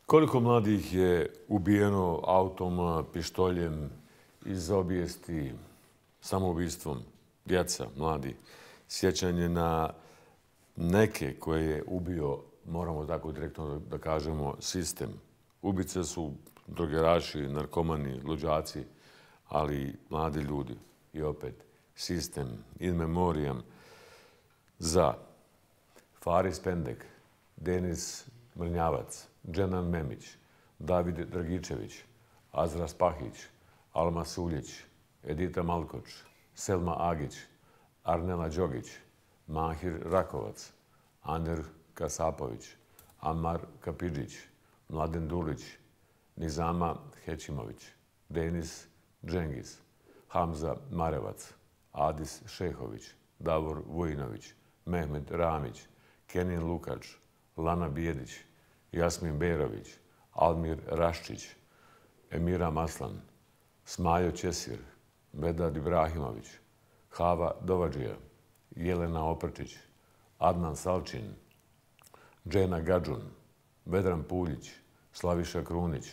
Koliko mladih je ubijeno autom, pištoljem, iz obijesti, samoubistvom, djeca, mladi, sjećanje na neke koje je ubio, moramo tako direktno da kažemo, sistem. Ubice su drogeraši, narkomani, luđaci, ali mladi ljudi. I opet, sistem, in memoriam za Faris Pendek, Denis Mrnjavac, Dženan Memić, David Dragičević, Azra Spahić, Alma Suljić, Edita Malkoč, Selma Agić, Arnela Đogić, Mahir Rakovac, Aner Kasapović, Amar Kapidžić, Mladen Dulić, Nizama Hećimović, Denis Džengiz, Hamza Marevac, Adis Šehović, Davor Vujinović, Mehmed Ramić, Kenin Lukač, Lana Bijedić, Jasmin Berović, Almir Raščić, Emira Maslan, Smajo Ćesir, Vedad Ibrahimović, Hava Dovadžija, Jelena Oprčić, Adnan Salčin, Džena Gadžun, Vedran Puljić, Slaviša Krunić,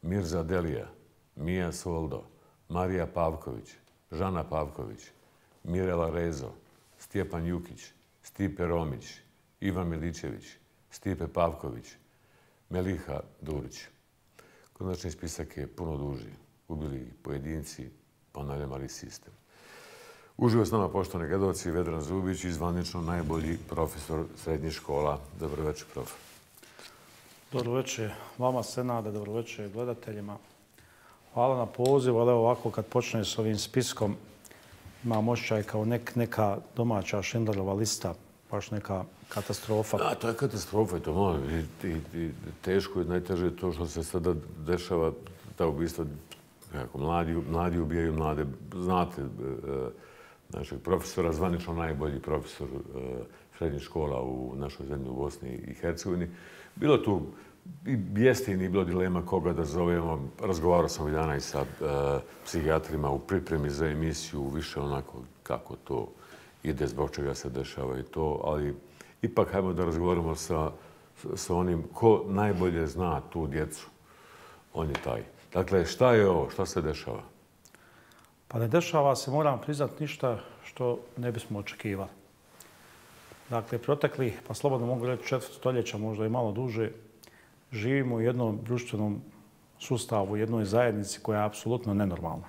Mirza Delija, Mija Soldo, Marija Pavković, Žana Pavković, Mirela Rezo, Stjepan Jukić, Stipe Romić, Ivan Milićević, Stipe Pavković, Meliha Durić. Konačni spisak je puno duži. Ubili pojedinci, ponavljam, ali sistem. Uživo s nama, poštovani gledalci, Vedran Zubić i zvanično najbolji profesor srednjih škola. Dobro večer, prof. Dobro večer vama, Senade, dobro večer gledateljima. Hvala na pozivu, ali ovako kad počne s ovim spiskom imam osjećaj kao neka domaća Schindlerova lista, baš neka katastrofa. Da, to je katastrofa i to malo. Teško je, najteže je to što se sada dešava, ta ubistva, mladi ubijaju mlade. Znate, našeg profesora, zvanično najbolji profesor srednjih škola u našoj zemlji, u Bosni i Hercegovini. Bilo tu i jeste bilo dilema koga da zovemo. Razgovarao sam ovih dana i sa psihijatrima u pripremi za emisiju, više onako kako to ide, zbog čega se dešava i to, ali ipak hajmo da razgovaramo sa onim ko najbolje zna tu djecu. On je taj. Dakle, šta je ovo? Šta se dešava? Pa ne dešava se, moram priznati, ništa što ne bismo očekivali. Dakle, protekli, pa slobodno mogu reći 4 stoljeća, možda i malo duže, živimo u jednom društvenom sustavu, u jednoj zajednici koja je apsolutno nenormalna.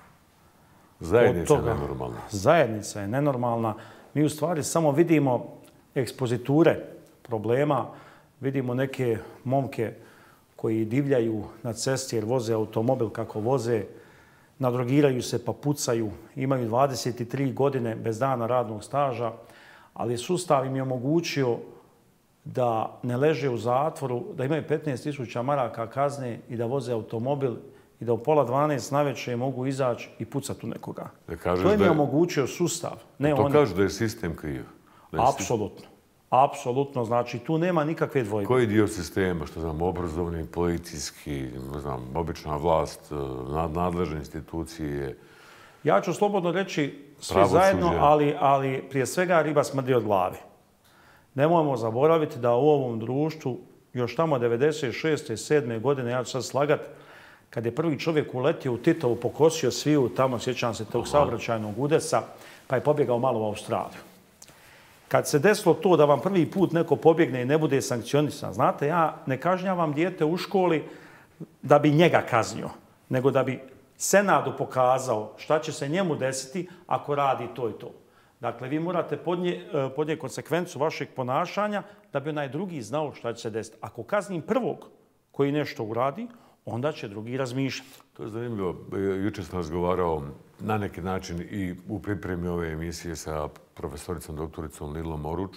Zajednica je nenormalna. Zajednica je nenormalna. Mi u stvari samo vidimo ekspoziture problema, vidimo neke momke koji divljaju na cesti jer voze automobil kako voze, nadrogiraju se pa pucaju, imaju 23 godine bez dana radnog staža, ali sustav im je omogućio da ne leže u zatvoru, da imaju 15.000 maraka kazne i da voze automobil i da u 11:30 navečer mogu izaći i pucati u nekoga. To im je omogućio sustav. To kažu da je sistem kriv. Apsolutno. Apsolutno. Znači, tu nema nikakve dvojbe. Koji dio sistema, što znam, obrazovni, policijski, ne znam, obična vlast, nadležne institucije? Ja ću slobodno reći sve zajedno, ali prije svega riba smrdi od glave. Nemojmo zaboraviti da u ovom društvu još tamo 96. 7. godine, ja ću sad slagat, kad je prvi čovjek uletio u Titovu, pokosio sviju, tamo sjećam se tog saobraćajnog udesa, pa je pobjegao malo u Australiju. Kad se desilo to da vam prvi put neko pobjegne i ne bude sankcionisan, znate, ja ne kažnjavam dijete u školi da bi njega kaznio, nego da bi Senadu pokazao šta će se njemu desiti ako radi to i to. Dakle, vi morate podnijeti konsekvencu vašeg ponašanja da bi onaj drugi znao šta će se desiti. Ako kaznim prvog koji nešto uradi, onda će drugi razmišljati. To je zanimljivo. Jučer sam razgovarao na neki način i u pripremi ove emisije sa profesoricom, doktoricom Lilom Oruč.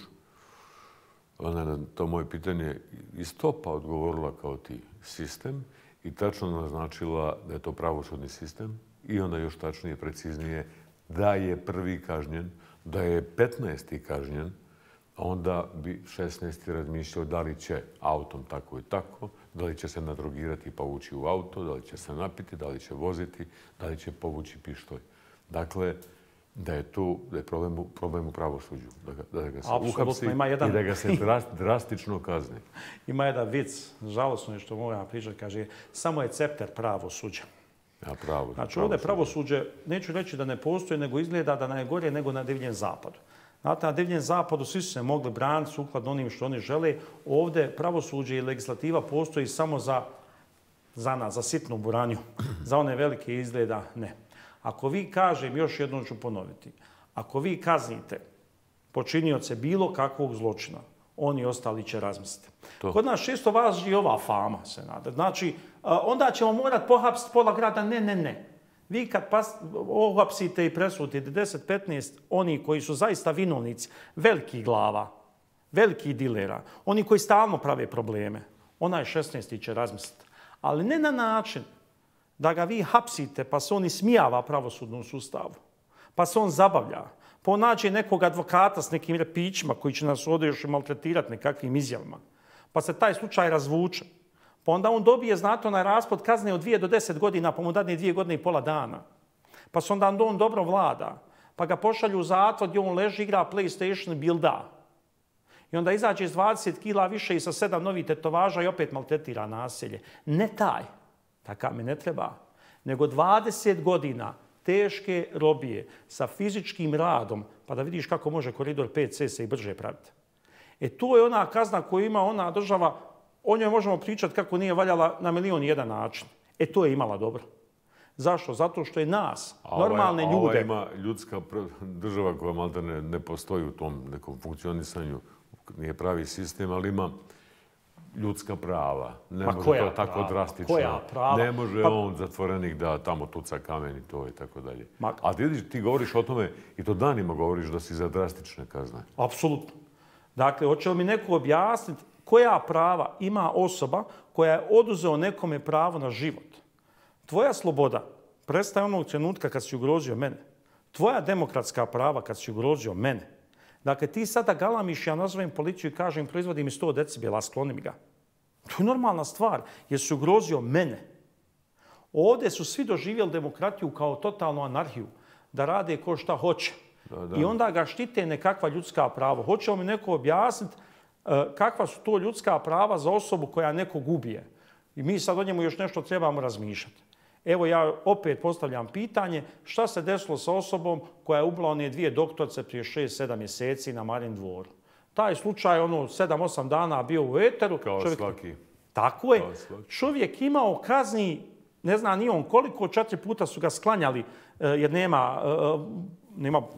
Ona je na to moje pitanje iz topa odgovorila kao ti sistem i tačno naznačila da je to pravosudni sistem i onda još tačnije, preciznije, da je prvi kažnjen, da je 15. kažnjen, onda bi 16. razmišljao da li će autom tako i tako, da li će se nadrogirati pa ući u auto, da li će se napiti, da li će voziti, da li će povući pištolj. Dakle, da je problem u pravosuđu, da ga se uhapsi i da ga se drastično kazni. Ima jedan vic, žalosno je što moram pričati, kaže, samo je cepter pravosuđa. Znači ovdje pravosuđe, neću reći da ne postoji, nego izgleda da najgore nego na Divljem zapadu. Znate, na Divljem zapadu svi su se mogli braniti sukladno onim što oni žele. Ovdje pravosuđe i legislativa postoji samo za nas, za sitnu buranju. Za one velike izgleda ne. Ako vi, kažem, još jednom ću ponoviti, ako vi kaznite počinioce bilo kakvog zločina, oni ostali će razmisliti. Kod nas često važi ova fama, se nada. Znači, onda ćemo morati pohapsiti pola grada. Ne. Vi kad ohapsite i presudite 10-15 oni koji su zaista vinovnici, velikih glava, velikih dilera, oni koji stalno prave probleme, onaj 16. će razmisliti. Ali ne na način da ga vi hapsite pa se on ismijava pravosudnom sustavu, pa se on zabavlja, pa on nađe nekog advokata s nekim repićima koji će nas ovdje još maltretirati nekakvim izjavama, pa se taj slučaj razvuče. Pa onda on dobije, znate, onaj raspod kazne od 2 do 10 godina, pa mu dadne 2 godine i pola dana. Pa se onda on dobro vlada, pa ga pošalju u zatvor gdje on leži, igra PlayStation i bilda. I onda izađe iz 20 kila više i sa 7 novih tetovaža i opet maltretira naselje. Ne taj, takav mi ne treba, nego 20 godina teške robije sa fizičkim radom, pa da vidiš kako može koridor 5C se i brže praviti. To je ona kazna koju ima ona država, o njoj možemo pričati kako nije valjala na milion i jedan način. To je imala dobro. Zašto? Zato što je nas, normalne ljude... Ova ima ljudska država koja malta ne postoji u tom nekom funkcionisanju, nije pravi sistem, ali ima ljudska prava. Ne može to tako drastično. Koja prava? Ne može on, zatvorenik, da tamo tuca kamen i to i tako dalje. A ti govoriš o tome, i to danima govoriš da si za drastične kazne. Apsolutno. Dakle, hoće li mi neko objasniti koja prava ima osoba koja je oduzeo nekome pravo na život? Tvoja sloboda prestaje onog trenutka kad si ugrozio mene. Tvoja demokratska prava kad si ugrozio mene. Dakle, ti sada galamiš, ja nazovem policiju i kažem proizvodi mi 100 decibela, skloni mi ga. To je normalna stvar, jer si ugrozio mene. Ovdje su svi doživjeli demokratiju kao totalnu anarhiju, da rade ko šta hoće. I onda ga štite nekakva ljudska prava. Hoće li mi neko objasniti kakva su to ljudska prava za osobu koja nekog ubije? I mi sad o njemu još nešto trebamo razmišljati. Evo ja opet postavljam pitanje šta se desilo sa osobom koja je ubila one 2 doktorce prije 6-7 mjeseci na Marin dvoru. Taj slučaj 7-8 dana bio u eteru. Kao svaki. Tako je. Čovjek imao kazni, ne zna ni on koliko, 4 puta su ga sklanjali jer nema,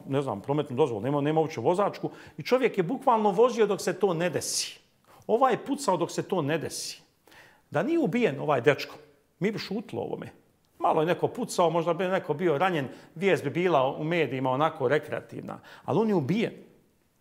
ne znam, prometnu dozvolu, nema uopće vozačku. I čovjek je bukvalno vozio dok se to ne desi. Ovaj je pucao dok se to ne desi. Da nije ubijen ovaj dečko, mi bi šutilo ovome. Malo je neko pucao, možda bi neko bio ranjen, vijest bi bila u medijima onako rekreativna. Ali on je ubijen.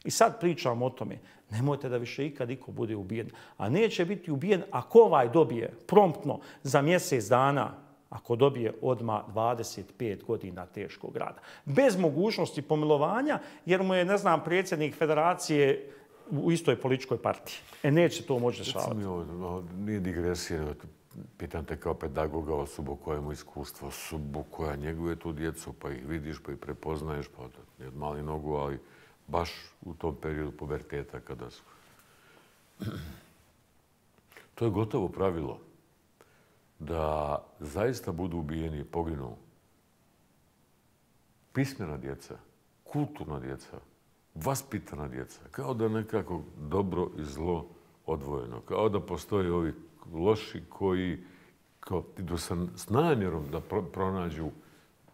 I sad pričamo o tome. Nemojte da više ikad iko bude ubijen. A neće biti ubijen ako ovaj dobije promptno za mjesec dana, ako dobije odmah 25 godina teškog rada. Bez mogućnosti pomilovanja, jer mu je, ne znam, predsjednik federacije u istoj političkoj partiji. Neće to moći dešavati. Nije digresija, pitam te kao pedagoga osobu koja ima iskustvo, osobu koja njeguje tu djecu, pa ih vidiš, pa ih prepoznaješ, pa ne od mali nogu, ali baš u tom periodu puberteta kada su. To je gotovo pravilo da zaista budu ubijeni i poginu pismena djeca, kulturna djeca, vaspitana djeca, kao da nekako dobro i zlo odvojeno, kao da postoje ovi loši koji idu s namjerom da pronađu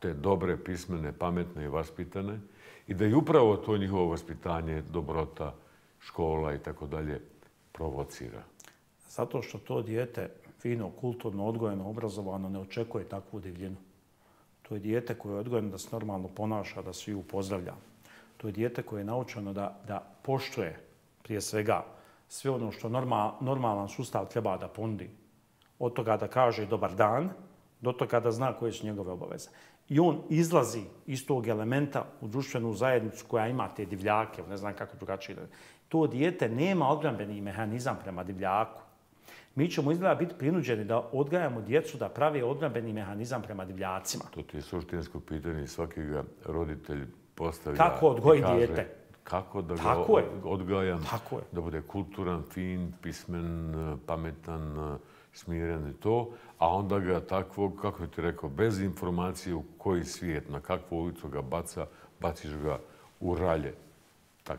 te dobre, pismene, pametne i vaspitane i da je upravo to njihovo vaspitanje, dobrota, škola i tako dalje provocira. Zato što to dijete fino, kulturno, odgojeno, obrazovano ne očekuje takvu divljinu. To je dijete koje je odgojeno da se normalno ponaša, da svi pozdravlja. To je dijete koje je naučeno da poštuje prije svega sve ono što normalan sustav treba da ponudi. Od toga da kaže dobar dan, do toga da zna koje su njegove obaveze. I on izlazi iz tog elementa u društvenu zajednicu koja ima te divljake, ne znam kako drugačije. To dijete nema odbrambeni mehanizam prema divljaku. Mi ćemo izgleda biti prinuđeni da odgajamo djecu da prave odbrambeni mehanizam prema divljacima. To ti je suštinsko pitanje. Svaki ga roditelj postavlja kako odgojiti dijete. Kako da ga odgajam, da bude kulturan, fin, pismen, pametan, smiren i to, a onda ga takvog, kako ti rekao, bez informacije u koji svijet, na kakvu ulicu ga baciš ga u ralje.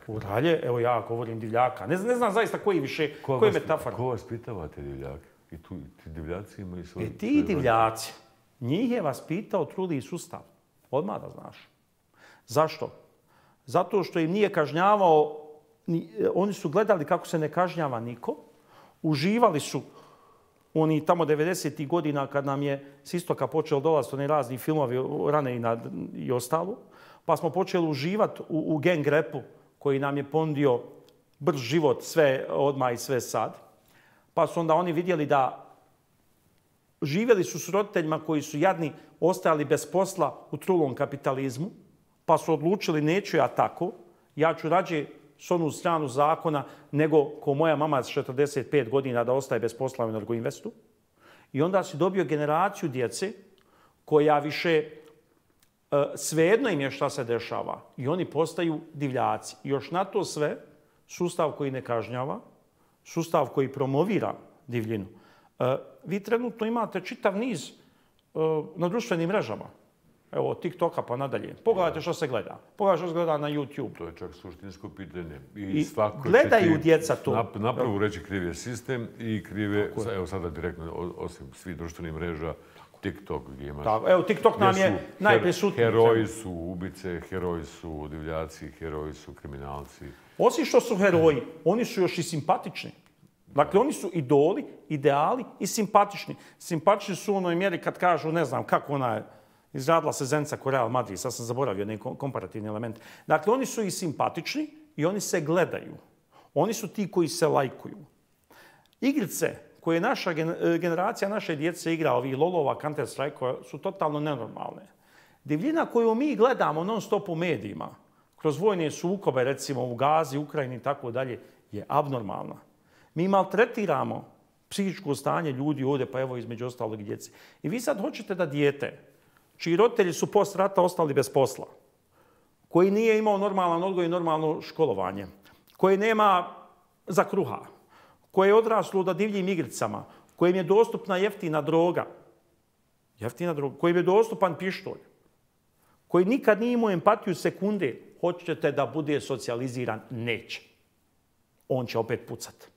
U ralje? Evo ja govorim divljaka. Ne znam zaista koji više, koji metafora. Ko vas pitava te divljake? I ti divljaci imaju svoje... Ti divljaci, njih je vas pitao trudi sustav. Odmah da znaš. Zašto? Zato što im nije kažnjavao, oni su gledali kako se ne kažnjava niko, uživali su oni tamo 90. godina kad nam je s istoka počelo dolaziti oni razni filmovi Rane i ostalo, pa smo počeli uživati u gang repu koji nam je ponudio brz život, sve odmah i sve sad. Pa su onda oni vidjeli da živjeli su s roditeljima koji su jadni, ostajali bez posla u trulom kapitalizmu, pa su odlučili neću ja tako, ja ću rađe s onu stranu zakona nego ko moja mama s 45 godina da ostaje bez posla u Energoinvestu. I onda si dobio generaciju djece koja više svejedno im je šta se dešava i oni postaju divljaci. I još na to sve sustav koji ne kažnjava, sustav koji promovira divljinu. Vi trenutno imate čitav niz na društvenim mrežama. Evo, od TikToka pa nadalje. Pogledajte što se gleda. Pogledajte što se gleda na YouTube. To je čak suštinsko pitanje. I gledaju djeca to. Napravo reći kriv je sistem i kriv je, evo sada direktno, osim svih društvenih mreža, TikTok gdje imaš... Evo, TikTok nam je najprisutniji. Heroji su ubice, heroji su divljaci, heroji su kriminalci. Osim što su heroji, oni su još i simpatični. Dakle, oni su idoli, ideali i simpatični. Simpatični su u onoj mjeri kad kažu, ne znam, kako ona je izradila se Zenica ko Real Madrid, sad sam zaboravio neki komparativni element. Dakle, oni su i simpatični i oni se gledaju. Oni su ti koji se lajkuju. Igrice koje naša generacija naše djece igra, ovi lolova, Counter Strike, su totalno nenormalne. Divljina koju mi gledamo non stop u medijima, kroz vojne sukobe, recimo u Gazi, Ukrajini i tako dalje, je abnormalna. Mi maltretiramo psihičko stanje ljudi ovdje, pa evo između ostalog i djece. I vi sad hoćete da dijete, čiji roditelji su post rata ostali bez posla, koji nije imao normalan odgoj i normalno školovanje, koji nema za kruha, koje je odraslo da divljim igricama, kojim je dostupna jeftina droga, kojim je dostupan pištolj, koji nikad nije imao empatiju sekunde, hoćete da bude socijaliziran, neće. On će opet pucati.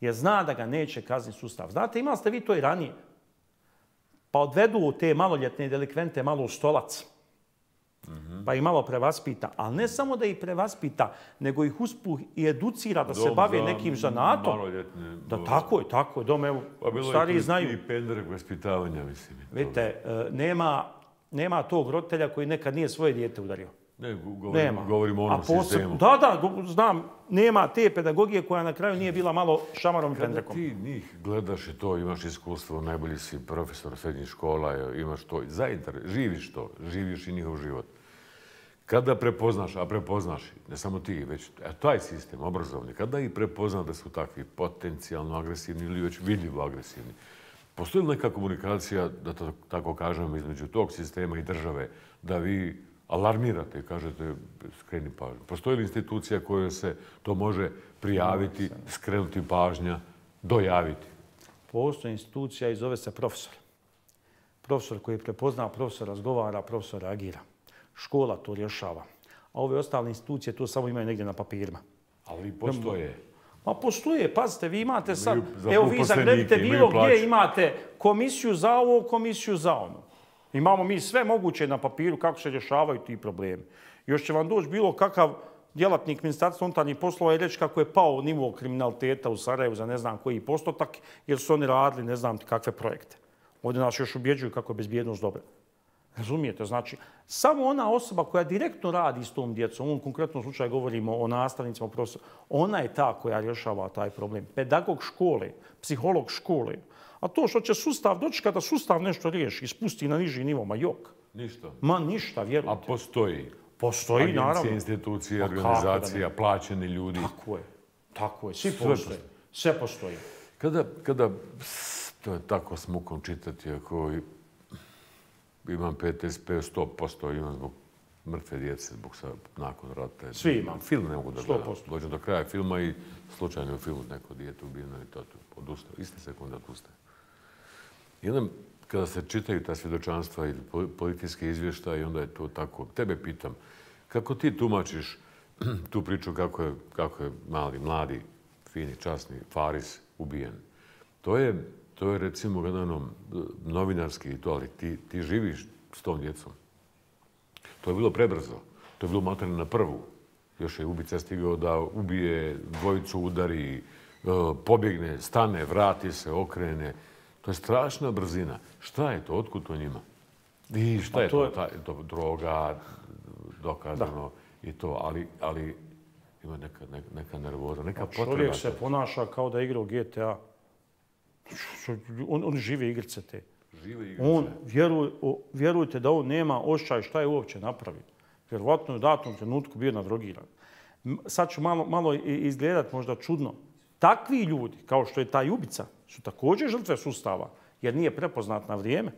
Jer zna da ga neće kazniti sustav. Znate, imali ste vi to i ranije. Pa odvedu te maloljetne delikvente malo u stolac. Pa ih malo prevaspita. Ali ne samo da ih prevaspita, nego ih uspuh i educira da se bave nekim zanatom. Da, tako je. Dom, evo, stariji znaju. I pendrek vaspitavanja, mislim. Vidite, nema tog roditelja koji nekad nije svoje dijete udario. Ne, govorimo o onom sistemu. Da, znam, nema te pedagogije koja na kraju nije bila malo šamarom i pendrekom. Kada ti njih gledaš i to, imaš iskustvo, najbolji si profesor srednjih škola, imaš to, živiš to, živiš i njihov život. Kada prepoznaš, a prepoznaš, ne samo ti, već taj sistem obrazovni, kada ih prepoznaš da su takvi potencijalno agresivni ili već vidljivo agresivni, postoji li neka komunikacija, da to tako kažem, između tog sistema i države, da vi alarmirate i kažete skreni pažnju? Postoji li institucija kojoj se to može prijaviti, skrenuti pažnja, dojaviti? Postoji institucija i zove se profesor. Profesor koji prepozna, profesor razgovara, profesor reagira. Škola to rješava. A ove ostale institucije to samo imaju negdje na papirima. Ali postoje. Ma postoje, pazite, vi imate sad, evo vi zagrebite bilo gdje imate komisiju za ovo, komisiju za ono. Imamo mi sve moguće na papiru kako se rješavaju ti problemi. Još će vam doći bilo kakav djelatnik Ministarstva unutarnjih poslova i reći kako je pao nivo kriminaliteta u Sarajevu za ne znam koji postotak, jer su oni radili ne znam kakve projekte. Ovdje nas još ubjeđuju kako je bezbjednost dobra. Razumijete? Znači, samo ona osoba koja direktno radi s tom djecom, u ovom konkretnom slučaju govorimo o nastavnicima, o profesoru, ona je ta koja rješava taj problem. Pedagog škole, psiholog škole. A to što će sustav doći kada sustav nešto riješi i spusti na niži nivo, ma jok. Ništa. Ma ništa, vjerujte. A postoji? Postoji, naravno. Agencije, institucije, organizacija, plaćeni ljudi. Tako je. Svi postoje. Sve postoji. Kada to je tako s mukom čitati, ako imam PTSP 100%, imam zbog mrtve djece nakon rata. Svi imam. Film ne mogu da gledam. 100%. Dođem do kraja filma i slučajno u filmu neko dijete ubijeno i to odustaje. Iste sekunde odustaje. I onda kada se čitaju ta svjedočanstva ili policijske izvještaje, onda je to tako. Tebe pitam, kako ti tumačiš tu priču kako je mladi, fini, časni Faris ubijen? To je recimo gledano novinarski i to, ali ti živiš s tom djecom. To je bilo prebrzo. To je bilo maltene na prvu. Još je ubica stigao da ubije, dvojicu udari, pobjegne, stane, vrati se, okrene. To je strašna brzina. Šta je to? Otkud to njima? I šta je to? Droga, dokazano i to. Ali ima neka nervoza, neka potreba. Čovjek se ponaša kao da igra u GTA. On žive igrice te. On, vjerujte da on nema osjećaj šta je uopće napravio. Vjerovatno je u datom trenutku bio nadrogiran. Sad ću malo izgledat možda čudno. Takvi ljudi, kao što je taj ubica, su također žrtve sustava, jer nije prepoznat na vrijeme.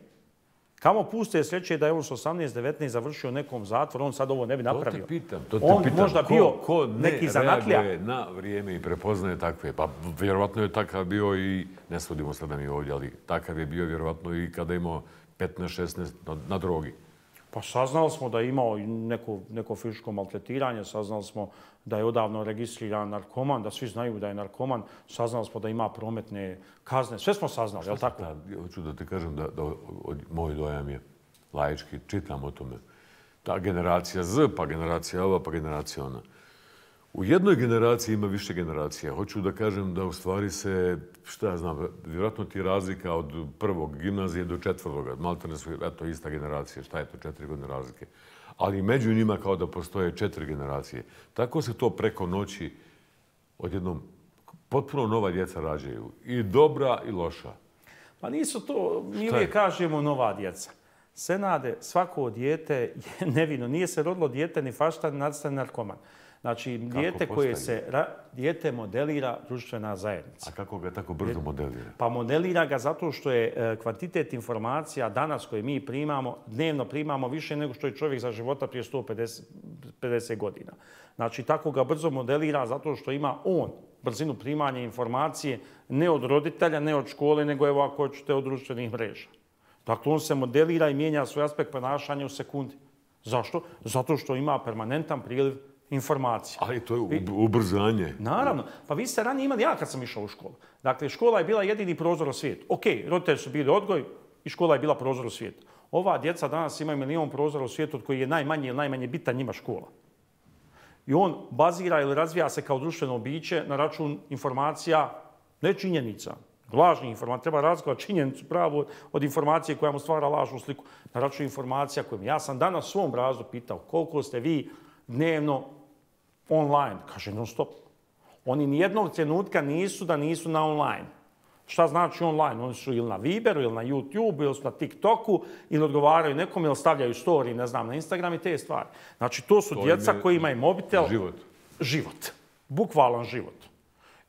Kamo puste sreće da je on s 18-19 završio nekom zatvoru, on sad ovo ne bi napravio. To te pitam. On možda bio neki zanatlija. Ko ne reaguje na vrijeme i prepoznaje takve? Pa vjerovatno je takav bio i, ne svodimo sada mi ovdje, ali takav je bio vjerovatno i kada imao 15-16 na drogi. Pa saznali smo da je imao neko fizičko maltretiranje, saznali smo da je odavno registriran narkoman, da svi znaju da je narkoman, saznali smo da ima prometne kazne, sve smo saznali, je li tako? Hoću da ti kažem da moj dojam je laički, čitam o tome. Ta generacija Z, pa generacija ova, pa generacija ona. U jednoj generaciji ima više generacija. Hoću da kažem da u stvari se, šta ja znam, vjerojatno ti razlika od prvog gimnazije do četvrtoga. Maltene su, eto, ista generacija. Šta je to, 4 godine razlike? Ali među njima kao da postoje 4 generacije. Tako se to preko noći odjednom potpuno nova djeca rađaju. I dobra i loša. Pa nisu to, mi uvijek kažemo nova djeca. Senade, svako dijete je nevino. Nije se rodilo dijete ni fašta, ni nacista, ni narkoman. Znači, dijete modelira društvena zajednica. A kako ga tako brzo modelira? Pa modelira ga zato što je kvantitet informacija danas koje mi primamo, dnevno primamo više nego što je čovjek za života prije 150 godina. Znači, tako ga brzo modelira zato što ima on brzinu primanja informacije ne od roditelja, ne od škole, nego evo ako hoćete od društvenih mreža. Dakle, on se modelira i mijenja svoj aspekt ponašanja u sekundi. Zašto? Zato što ima permanentan priliv informacija. Ali to je ubrzanje. Naravno. Pa vi ste ranije imali, ja kad sam išao u školu. Dakle, škola je bila jedini prozor u svijetu. Ok, roditelji su bili odgoj i škola je bila prozor u svijetu. Ova djeca danas imaju milion prozora u svijetu od koji je najmanje bitan njima škola. I on bazira ili razvija se kao društveno biće na račun informacija, ne činjenica, lažnih informacija. Treba razlikovati činjenicu pravu od informacije koja mu stvara lažnu sliku. Na račun informacija kojim ja sam danas u svom razdu pitao koliko ste vi dnevno online. Kaže non stop. Oni nijednog trenutka nisu da nisu na online. Šta znači online? Oni su ili na Viberu, ili na YouTube, ili su na TikToku, ili odgovaraju nekom, ili stavljaju story, ne znam, na Instagram i te stvari. Znači, to su djeca koji imaju mobitel. Život. Život. Bukvalan život.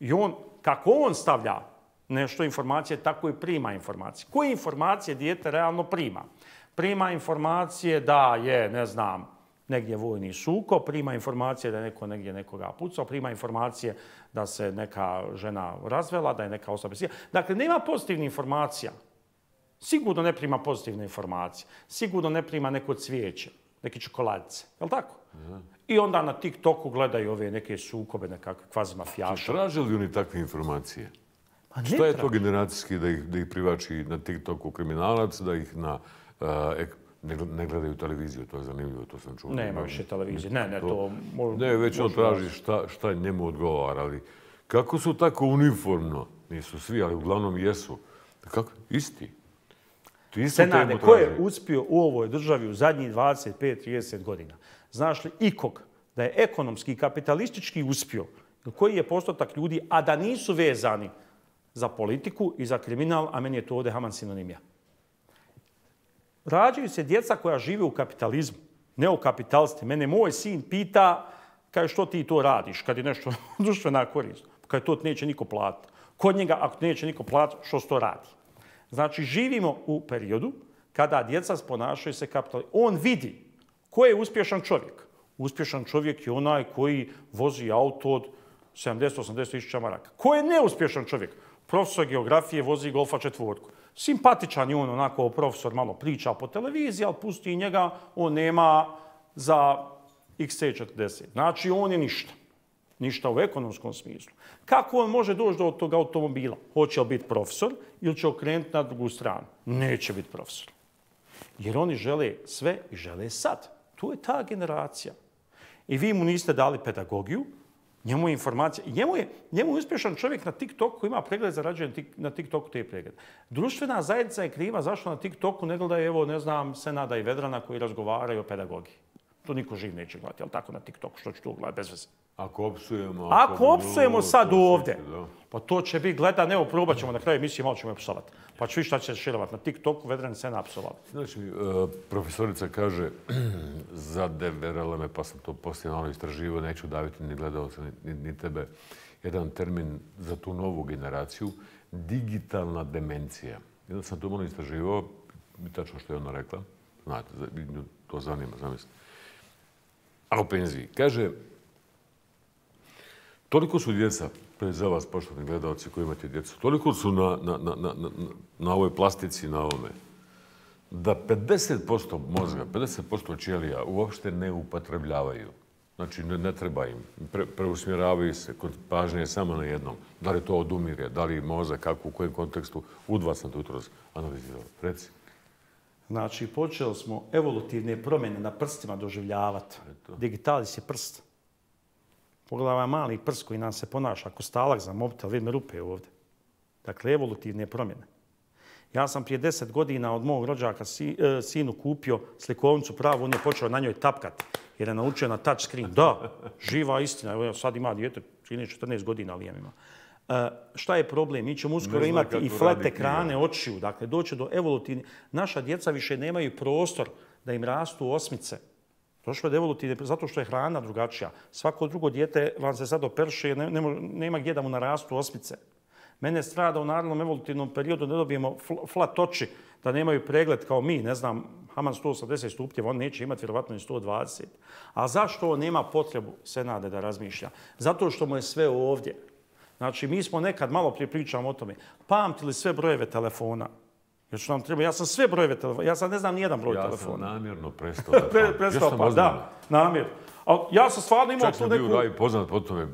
I on, kako on stavlja nešto informacije, tako i prima informacije. Koje informacije dijete realno prima? Prima informacije da je, ne znam, negdje vojni sukob, prima informacije da je neko negdje nekoga pucao, prima informacije da se neka žena razvela, da je neka osoba besija. Dakle, nema pozitivnih informacija. Sigurno ne prima pozitivne informacije. Sigurno ne prima neko cvijeće, neke čokoladice. Je li tako? I onda na TikToku gledaju ove neke sukobe, nekakve kvazi mafijaša. Traže li oni takve informacije? Šta je to generacijski da ih privači na TikToku kriminalac, da ih na... Ne gledaju televiziju, to je zanimljivo, to sam čuo. Nema više televizije, ne, to... Ne, već on traži šta njemu odgovara, ali kako su tako uniformno, nisu svi, ali uglavnom jesu, kako? Isti. Senade, ko je uspio u ovoj državi u zadnjih 25-30 godina? Znaš li ikog da je ekonomski i kapitalistički uspio, koji je postotak ljudi, a da nisu vezani za politiku i za kriminal, a meni je to ovdje Haman sinonimija. Rađaju se djeca koja žive u kapitalizmu, ne u kapitalstvu. Mene moj sin pita, kaže, što ti to radiš kad je nešto društvena korist? Kaže, to neće niko platiti. Kod njega, ako neće niko platiti, što se to radi? Znači, živimo u periodu kada djeca ponašaju se kapitalizmu. On vidi Ko je uspješan čovjek? Uspješan čovjek je onaj koji vozi auto od 70-80 tisuća maraka. Ko je neuspješan čovjek? Profesor geografije vozi Golfa 4. Simpatičan je on, onako profesor malo priča po televiziji, ali pusti njega, on nema za XC40. Znači, on je ništa. Ništa u ekonomskom smislu. Kako on može doći do tog automobila? Hoće li biti profesor ili će okrenuti na drugu stranu? Neće biti profesor. Jer oni žele sve i žele sad. Tu je ta generacija. I vi mu niste dali pedagogiju, njemu je informacija. Njemu je uspješan čovjek na TikToku, ima pregled, zarađuje na TikToku te pregled. Društvena zajednica je kriva zašto na TikToku ne gledaju, evo, ne znam, Senada i Vedrana koji razgovaraju o pedagogiji. To niko živ neće gledati, ali tako na TikToku, što ću tu gledati bez veze. Ako opsujemo sad ovdje, pa to će biti gledan, evo, probat ćemo na kraju emisije, malo ćemo je psovati. Pa ću vi šta će širovati na TikToku, Vedran i Sena psovali. Znači, profesorica kaže za DVRLM, pa sam to poslije malo istraživo, neću daviti ni gledalca, ni tebe, jedan termin za tu novu generaciju, digitalna demencija. Jedan sam to malo istraživo, tačno što je ona rekla, znate, to zanima, zamislite. A u penziji. Kaže, toliko su djeca, pred za vas, poštovni gledalci koji imate djecu, toliko su na ovoj plastici, na ovome, da 50% mozga, 50% ćelija uopšte ne upotrebljavaju. Znači, ne treba im. Preusmjeravaju se, kod pažnje samo na jednom. Da li to odumirje, da li mozak, kako, u kojem kontekstu, u 2 sam to jutro analizirao. Reci. Znači, počeli smo evolutivne promjene na prstima doživljavati. Digitalis je prst. Pogledaj mali prst koji nam se ponaša ako stalak za mobitel, vidme rupe ovdje. Dakle, evolutivne promjene. Ja sam prije 10 godina od mog rođaka sinu kupio slikovnicu pravu, on je počeo na njoj tapkati jer je naučio na touch screen. Da, živa istina. Evo, sad ima dijete, 14 godina Liam ima. Šta je problem? Mi ćemo uskoro imati i flat ekrane očiju. Dakle, doći do evolutivne. Naša djeca više nemaju prostor da im rastu osmice. Došlo je do evolutivne, zato što je hrana drugačija. Svako drugo dijete vam se sad operše, nema gdje da mu narastu osmice. Mene strada u narednom evolutivnom periodu da dobijemo flat oči, da nemaju pregled kao mi, ne znam, Haman 180 stupnjeva, on neće imati vjerovatno i 120. A zašto on nema potrebu Senade da razmišlja? Zato što mu je sve ovdje. Znači, mi smo nekad, malo prije pričamo o tome, pamtili sve brojeve telefona. Jer što nam treba, ja sam sve brojeve telefona, ja sad ne znam nijedan broj telefona. Ja sam namjerno prestao da pamtim. Prestao pa, da, namjerno. Ali ja sam stvarno imao tu neku... Čak sam bio Ravi poznat po tome,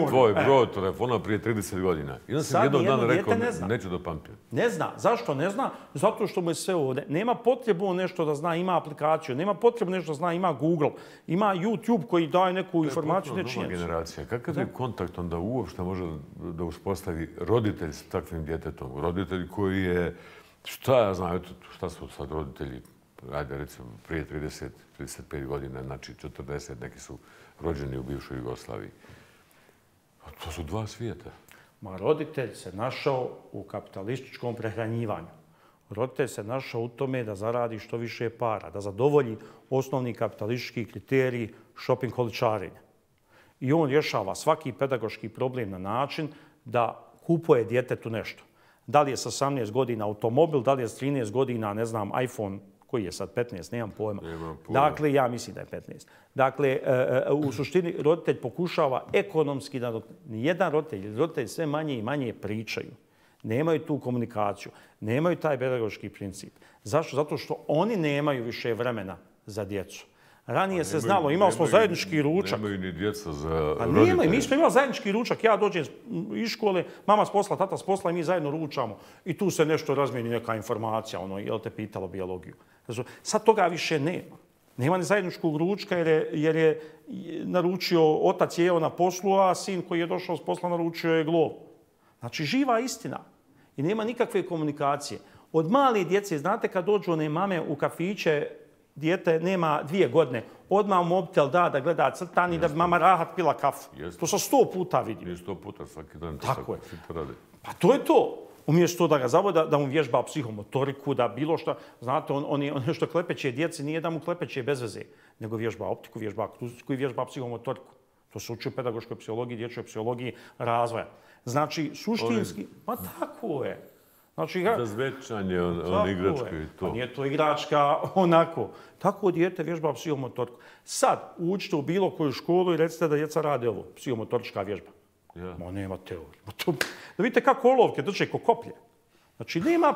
tvoj broj telefona prije 30 godina. I onda sam jednog dana rekao, neću da pamtim. Ne zna. Zašto ne zna? Zato što mu je sve ovdje. Nema potrebu nešto da zna, ima aplikaciju. Nema potrebu nešto da zna, ima Google. Ima YouTube koji daje neku informaciju. To je potpuno nova generacija. Kakav je kontakt onda uopšte može da uspostavi roditelj s takvim djetetom? Roditelj koji je, šta ja znam, šta su sad roditelji? Ajde, recimo, prije 30-35 godina, znači 40, neki su rođeni u bivšoj Jugoslaviji. To su dva svijeta. Ma roditelj se našao u kapitalističkom prehranjivanju. Roditelj se našao u tome da zaradi što više para, da zadovolji osnovni kapitalistički kriterij shopping holičarenja. I on rješava svaki pedagoški problem na način da kupuje djetetu nešto. Da li je sa 18 godina automobil, da li je s 13 godina, ne znam, iPhone, koji je sad 15, nemam pojma. Dakle, ja mislim da je 15. Dakle, u suštini roditelj pokušava ekonomski da nijedan roditelj sve manje i manje pričaju. Nemaju tu komunikaciju, nemaju taj pedagoški princip. Zašto? Zato što oni nemaju više vremena za djecu. Ranije se znalo, imali smo zajednički ručak. Nemaju ni djeca za roditelje. Nemaju, mi smo imali zajednički ručak. Ja dođem iz škole, mama s posla, tata s posla i mi zajedno ručamo. I tu se nešto razmijeni, neka informacija, jel te pitalo biologiju. Sad toga više nema. Nema ni zajedničkog ručka jer je naručio, otac jeo na poslu, a sin koji je došao s posla naručio je glov. Znači, živa istina. I nema nikakve komunikacije. Od male djece, znate kad dođu one mame u kafiće, dijete nema 2 godine, odmah mobitel da gleda crtan i da bi mama rahat pila kafu. To sam 100 puta vidio. Nije 100 puta svaki dan. Tako je. Pa to je to. Umjesto da ga zavode, da mu vježba psihomotoriku, da bilo što, znate, on nešto klepeće djeci, nije da mu klepeće bez veze, nego vježba optiku, vježba akustiku i vježba psihomotoriku. To se uči u pedagoškoj psihologiji, dječjoj psihologiji razvoja. Znači, suštinski, pa tako je. Znači, za zvečanje, on igračka i to. Pa nije to igračka onako. Tako dijete vježba psihomotoriku. Sad, uđite u bilo koju školu i recite da djeca rade ovo, psihomotorička vježba. Ma nema teorije. Da vidite kako olovke drže ko koplje. Znači, nema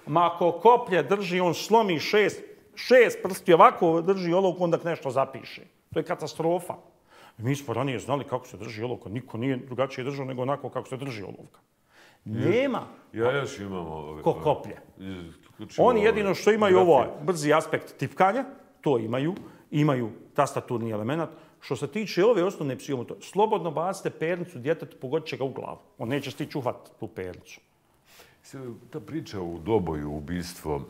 Ma ako koplje drži, on slomi šest prsti, ovako drži olovku, onda nešto zapiše. To je katastrofa. Mi smo ranije znali kako se drži olovka. Niko nije drugačije držao nego onako kako se drži olovka. Nema. Ja još imam ko koplje. Oni jedino što imaju ovaj brzi aspekt tipkanja, to imaju tastaturni element. Što se tiče ove osnovne psihomotorike, slobodno bacite pernicu djetetu, pogodit će ga u glavu. On neće stići uhvatiti tu pernicu. Ta priča u Doboju, ubistvo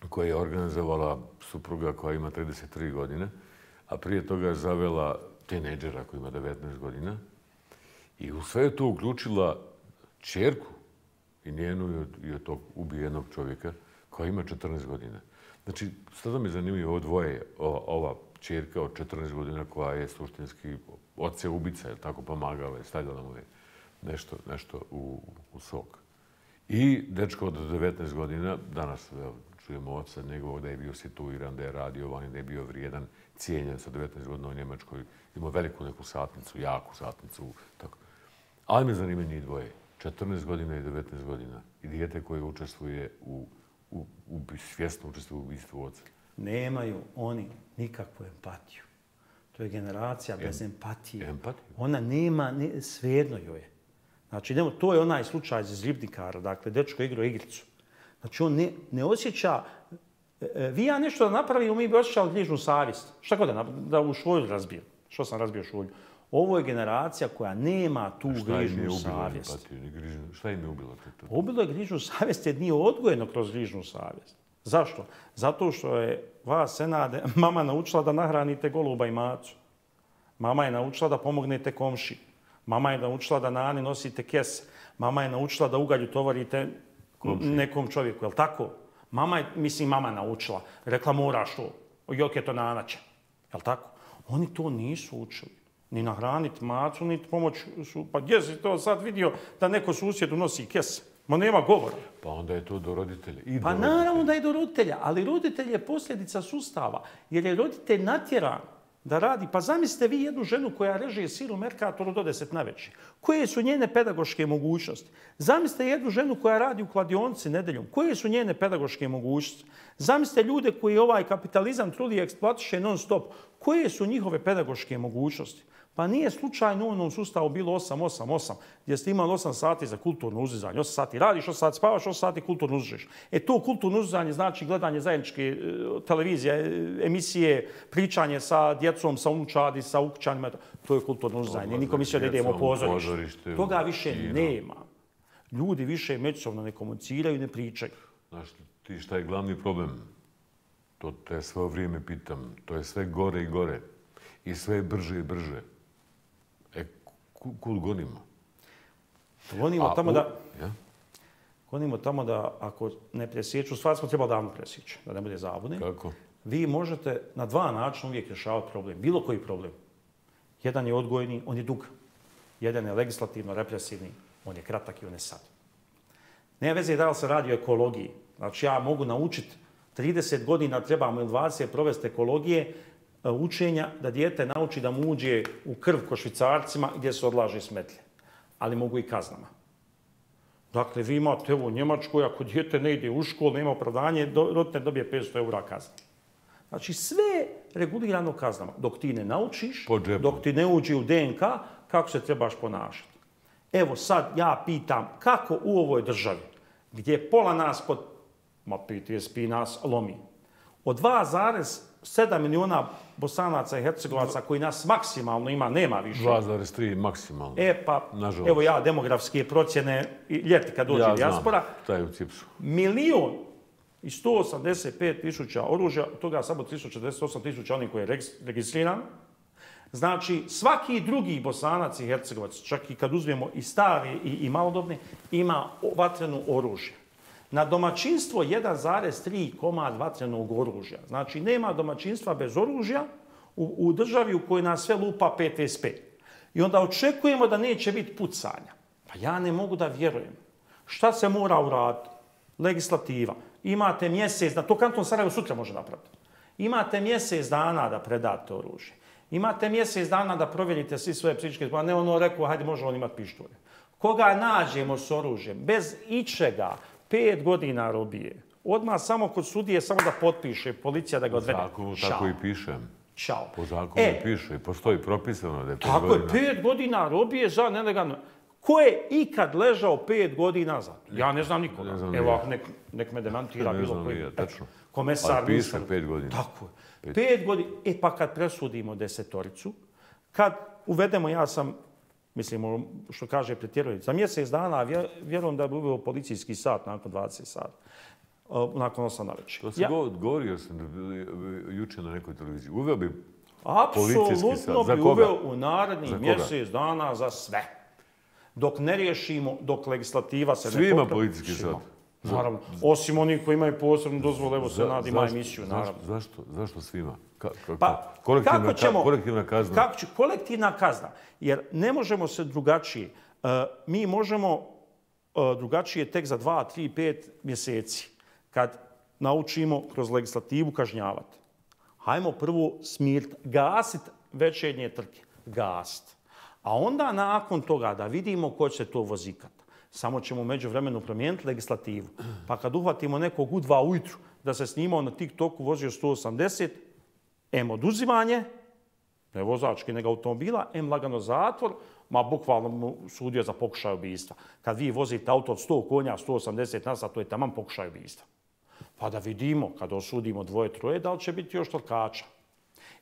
koje je organizovala supruga koja ima 33 godine, a prije toga je zavela tinejdžera koji ima 19 godina i u sve je to uključila ćerku i njenu i od tog ubijenog čovjeka koja ima 14 godina. Znači, sada mi zanimljivo ovo dvoje, ova ćerka od 14 godina koja je suštinski oce ubica, je tako pomagala i stavljala mu je nešto u sok. I dečko od 19 godina, danas čujemo oca njegovog da je bio situiran, da je radio vani, da je bio vrijedan, cijenjen sa 19 godina u Njemačkoj, imao veliku neku satnicu, jaku satnicu. Tako. Ali me zanima njih dvoje, 14 godina i 19 godina i dijete koje učestvuje svjesno učestvuje u ubistvu oca. Nemaju oni nikakvu empatiju. To je generacija bez empatije. Empatiju? Ona nema, svejedno joj je. Znači, to je onaj slučaj iz Ribnikara, dakle, dečko igrao igricu. Znači, on ne osjeća, vi ja nešto da napravimo, mi bi osjećali grižnu savjest. Šta god da u šolju razbijem? Što sam razbio šolju? Ovo je generacija koja nema tu grižnu savjest. Šta im je ubilo? Ubilo je grižnu savjest jer nije odgojeno kroz grižnu savjest. Zašto? Zato što je vas, Senade, mama naučila da nahranite goluba i macu. Mama je naučila da pomognete komši. Mama je naučila da nani nosite kese. Mama je naučila da ugalju tovarite nekom čovjeku. Je li tako? Mama naučila. Rekla moraš to. Jok je to nanače. Je li tako? Oni to nisu učili. Ni nahraniti macu, ni pomoć. Pa gdje si to sad vidio da neko susjedu nosi kese? Ma nema govora. Pa onda je to do roditelja. Pa naravno da je do roditelja, ali roditelj je posljedica sustava. Jer je roditelj natjeran da radi. Pa zamislite vi jednu ženu koja reže sir u Merkatoru do 10 navečer. Koje su njene pedagoške mogućnosti? Zamislite jednu ženu koja radi u kladionici nedeljom. Koje su njene pedagoške mogućnosti? Zamislite ljude koji ovaj kapitalizam trudi i eksploatiše non stop. Koje su njihove pedagoške mogućnosti? Pa nije slučajno u onom sustavu bilo 8-8-8, gdje ste imali 8 sati za kulturno uzdizanje. 8 sati radiš, 8 sati spavaš, 8 sati kulturno uzdižeš. To kulturno uzdizanje znači gledanje zajedničke televizije, emisije, pričanje sa djecom, sa unučadi, sa ukućanima. To je kulturno uzdizanje. Niko mislio da idemo u pozorište. Toga više nema. Ljudi više međusobno ne komuniciraju i ne pričaju. Znaš ti šta je glavni problem? To te sve vrijeme pitam. To je sve gore i gore. I sve brže i brže. Kud gonimo? Gonimo tamo da ako ne presjeću, stvar smo trebali davno presjeći, da ne bude zabune. Kako? Vi možete na dva načina uvijek rješavati problem. Bilo koji problem. Jedan je odgojni, on je dug. Jedan je legislativno represivni, on je kratak i on je sad. Nema veze da li se radi o ekologiji. Znači ja mogu naučiti 30 godina trebamo ili 20 provesti ekologije, učenja da dijete nauči da mu uđe u krv ko Švicarcima gdje se odlaže smetlje. Ali mogu i kaznama. Dakle, vi imate u Njemačkoj, ako dijete ne ide u školu, nema opravdanje, roditelj dobije 500 € kazne. Znači, sve regulirano kaznama. Dok ti ne naučiš, dok ti ne uđe u DNK, kako se trebaš ponašati. Evo sad ja pitam kako u ovoj državi, gdje pola nas PTSP nas lomi, od 2,7 milijuna Bosanaca i Hercegovaca koji nas maksimalno ima, nema više. 2,3 maksimalno. Nažalost. Evo ja demografske procjene ljeti kad dođe dijaspora. Ja znam, taj u Cipsu. 1.185.000 oružja, od toga samo 348.000 onih koji je registriran. Znači, svaki drugi Bosanac i Hercegovac, čak i kad uzmemo i stari i malodobne, ima vatreno oružje. Na domaćinstvo 1,3 komad vatrenog oružja. Znači, nema domaćinstva bez oružja u državi u kojoj nas sve lupa PTSP. I onda očekujemo da neće biti pucanja. Pa ja ne mogu da vjerujem Šta se mora uraditi? Legislativa. Imate mjesec, to Kanton Sarajevo sutra može napraviti. Imate mjesec dana da predate oružje. Imate mjesec dana da provjerite svi svoje psihičke, pa ne ono rekao, hajde može on imati pištolje. Koga nađemo s oružjem, bez ičega, 5 godina robije. Odmah samo kod sudije, samo da potpiše policija da ga odvede. Zakonu tako i pišem. Ćao. Po zakonu piše, postoji propisano da je 5 tako godina. Tako je, 5 godina robije za nelegalno. Ko je ikad ležao 5 godina za? Ja ne znam nikoga. Evo, nek me demantira bilo koji. Komesar. Ali piše 5 godina. Tako je. 5 godina. Pa kad presudimo 10-toricu, kad uvedemo, ja sam, mislim, što kaže pretjerujem, za mjesec dana vjerujem da bi uveo policijski sat nakon 20 sata. Nakon 8 na večer. To se govorio sam juče na nekoj televiziji. Uveo bi policijski sat. Apsolutno bi uveo u narednih mjesec dana za sve. Dok ne riješimo, dok legislativa se ne popravi. Svima policijski sat. Naravno. Osim onih koji imaju posebnu dozvolu, evo Senat ima emisiju, naravno. Zašto svima? Kolektivna kazna? Kolektivna kazna. Jer ne možemo se drugačije. Mi možemo drugačije tek za 2, 3, 5 mjeseci. Kad naučimo kroz legislativu kažnjavati. Hajmo prvo smirt, gasit večernje trke. Gasit. A onda nakon toga da vidimo ko će to vozikat. Samo ćemo međuvremenu promijeniti legislativu. Pa kad uhvatimo nekog u 2 ujutru da se snimao na TikToku, vozio 180, oduzimanje, ne vozački, nego automobila, lagano zatvor, ma bukvalno mu sudio za pokušaj ubijstva. Kad vi vozite auto od 100 konja, 180 na sat, to je taman pokušaj ubijstva. Pa da vidimo, kad osudimo 2-3, da li će biti još trkača.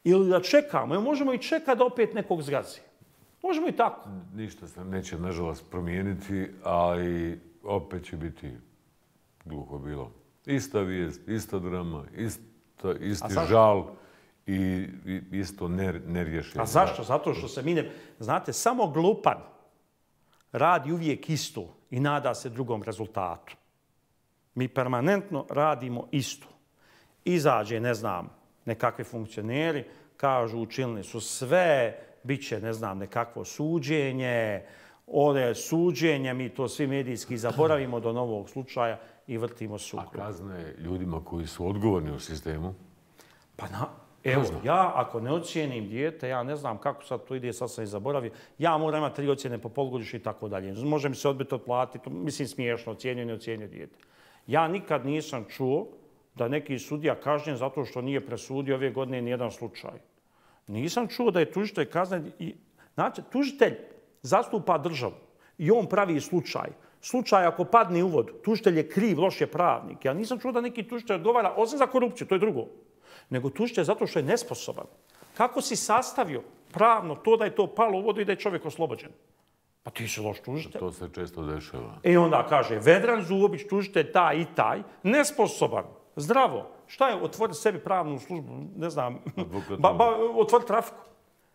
Ili da čekamo, možemo i čekati da opet nekog zgazi. Možemo i tako. Ništa se neće, nažalost, promijeniti, ali opet će biti gluho bilo. Ista vijest, ista drama, isti žal i isto nerješenje. A zašto? Zato što se mi ne... Znate, samo glupan radi uvijek isto i nada se drugom rezultatu. Mi permanentno radimo isto. Izađe, ne znam, nekakvi funkcioneri, kažu učinili su sve, bit će, ne znam, nekakvo suđenje, ode suđenje, mi to svi medijski zaboravimo do novog slučaja i vrtimo sukrug. A kazne ljudima koji su odgovorni u sistemu? Pa evo, ja ako ne ocijenim dijete, ja ne znam kako sad to ide, sad sam i zaboravio, ja moram imati 3 ocjene po polugodištu i tako dalje. Može mi se odbiti otplatiti, mislim smiješno, ocijenio, ne ocijenio dijete. Ja nikad nisam čuo da neki sudija kažnjen zato što nije presudio ove godine nijedan slučaj. Nisam čuo da je tužitelj kaznen. Znači, tužitelj zastupa državu i on pravi slučaj. Slučaj ako padne u vodu, tužitelj je kriv, loš je pravnik. Ja nisam čuo da neki tužitelj odgovara, osim za korupciju, to je drugo. Nego tužitelj zato što je nesposoban. Kako si sastavio pravno to da je to palo u vodu i da je čovjek oslobođen? Pa ti si loš tužitelj. To se često dešava. I onda kaže, Vedran Zuobić, tužitelj taj i taj, nesposoban, zdravo. Šta je otvoriti sebi pravnu službu, ne znam, otvoriti trafiku?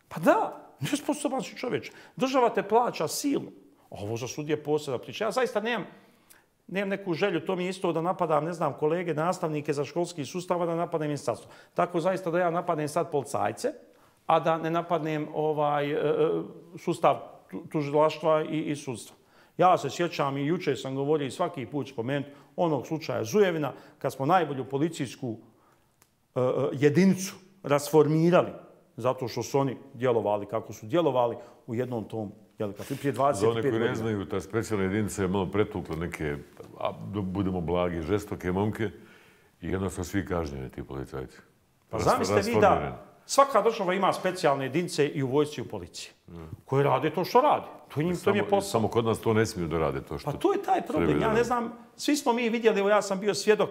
Pa da, nesposoban si čovječ. Država te plaća silu. Ovo za sudije posebna priča. Ja zaista nemam neku želju, to mi je isto da napadam, ne znam, kolege, nastavnike za školski sustav, da napadnem ministarstvo. Tako zaista da ja napadnem sad policajce, a da ne napadnem sustav tužilaštva i sudstva. Ja se sjećam i juče sam govorio i svaki put spomenuti onog slučaja Zujevina, kad smo najbolju policijsku jedinicu rasformirali zato što su oni djelovali kako su djelovali u jednom tom, prije 25 godina. Za one koji ne znaju, ta specijalna jedinica je malo pretukla neke, da budemo blagi, žestoke momke i jedno su svi kažnjeni ti policajci. Pa zamislite vi da svaka država ima specijalne jedinice i u vojsci i u policiji koje rade to što rade. To im je posao. Samo kod nas to ne smiju da rade to što... Pa to je taj problem. Ja ne znam, svi smo mi vidjeli, evo ja sam bio svjedok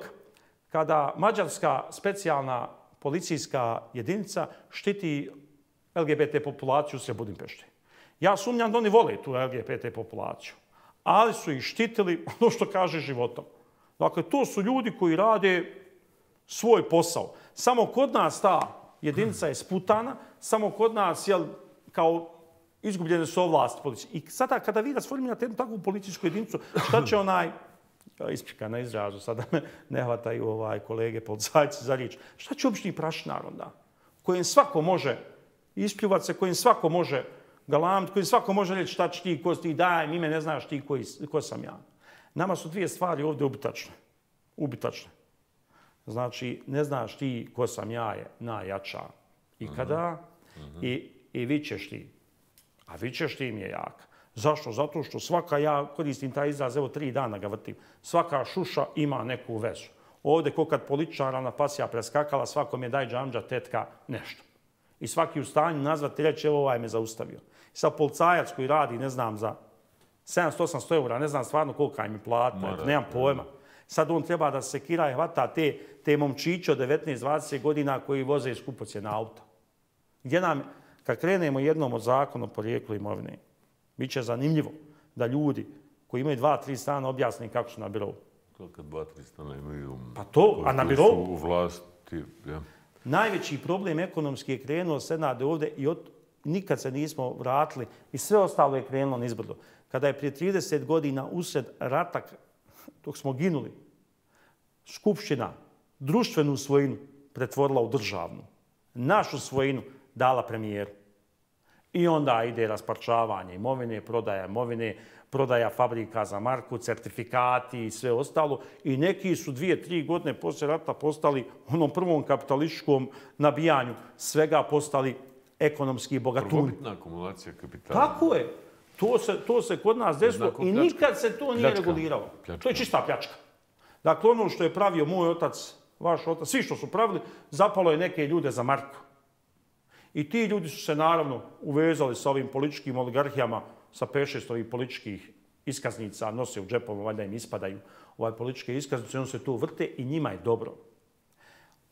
kada mađarska specijalna policijska jedinica štiti LGBT populaciju u Budimpešte. Ja sumnjam da oni vole tu LGBT populaciju, ali su ih štitili ono što kaže životom. Dakle, to su ljudi koji rade svoj posao. Samo kod nas ta jedinica je sputana, samo kod nas je kao izgubljene su ovlasti policije. I sada kada vi rasformirate jednu takvu policijsku jedinicu, šta će isprika na izrazu, sada me ne hvataju kolege policajci za riječ, šta će obični prašnar onda? Kojim svako može ispljuvati se, kojim svako može galamiti, kojim svako može reći šta će ti, ko si ti, daj, ime ne znaš ti ko sam ja. Nama su dvije stvari ovdje ubitačne. Znači, ne znaš ti ko sam ja je najjača ikada i vičeš ti. A vičeš ti mi je jaka. Zašto? Zato što svaka, ja koristim taj izraz, evo 3 dana ga vrtim, svaka šuša ima neku vezu. Ovdje, ko kad političara na pasija preskakala, svakom je daj džamđa, tetka, nešto. I svaki u stanju nazvati, reći, evo ovaj me zaustavio. I sad policajac koji radi, ne znam, za 700-800 eura, ne znam stvarno kolika im je plata, nemam pojma. Sad on treba da se sekira i hvata te momčiće od 19-20 godina koji voze skupocjena auta. Gdje nam, kad krenemo jednom od zakona o porijeklu imovine, bit će zanimljivo da ljudi koji imaju 2-3 stana objasne kako su na birovu. To kad 2-3 stana imaju... Pa to, a na birovu? U vlasti, ja. Najveći problem ekonomski je krenuo Senade ovdje i nikad se nismo vratili i sve ostalo je krenulo nizbrdo. Kada je prije 30 godina usred rata, dok smo ginuli, Skupština društvenu svojinu pretvorila u državnu. Našu svojinu dala premijeru. I onda ide rasparčavanje imovine, prodaja fabrika za marku, certifikati i sve ostalo. I neki su 2-3 godine poslije rata postali onom prvom kapitalističkom nabijanju svega postali ekonomski bogatuni. Prvobitna akumulacija kapitala. Tako je. To se kod nas desilo i nikad se to nije reguliralo. To je čista pljačka. Dakle, ono što je pravio moj otac, vaš otac, svi što su pravili, zapalo je neke ljude za marku. I ti ljudi su se naravno uvezali sa ovim političkim oligarhijama, sa 5-6 ovih političkih iskaznica, nose u džepovu, valjda im ispadaju političke iskaznice, on se tu vrte i njima je dobro.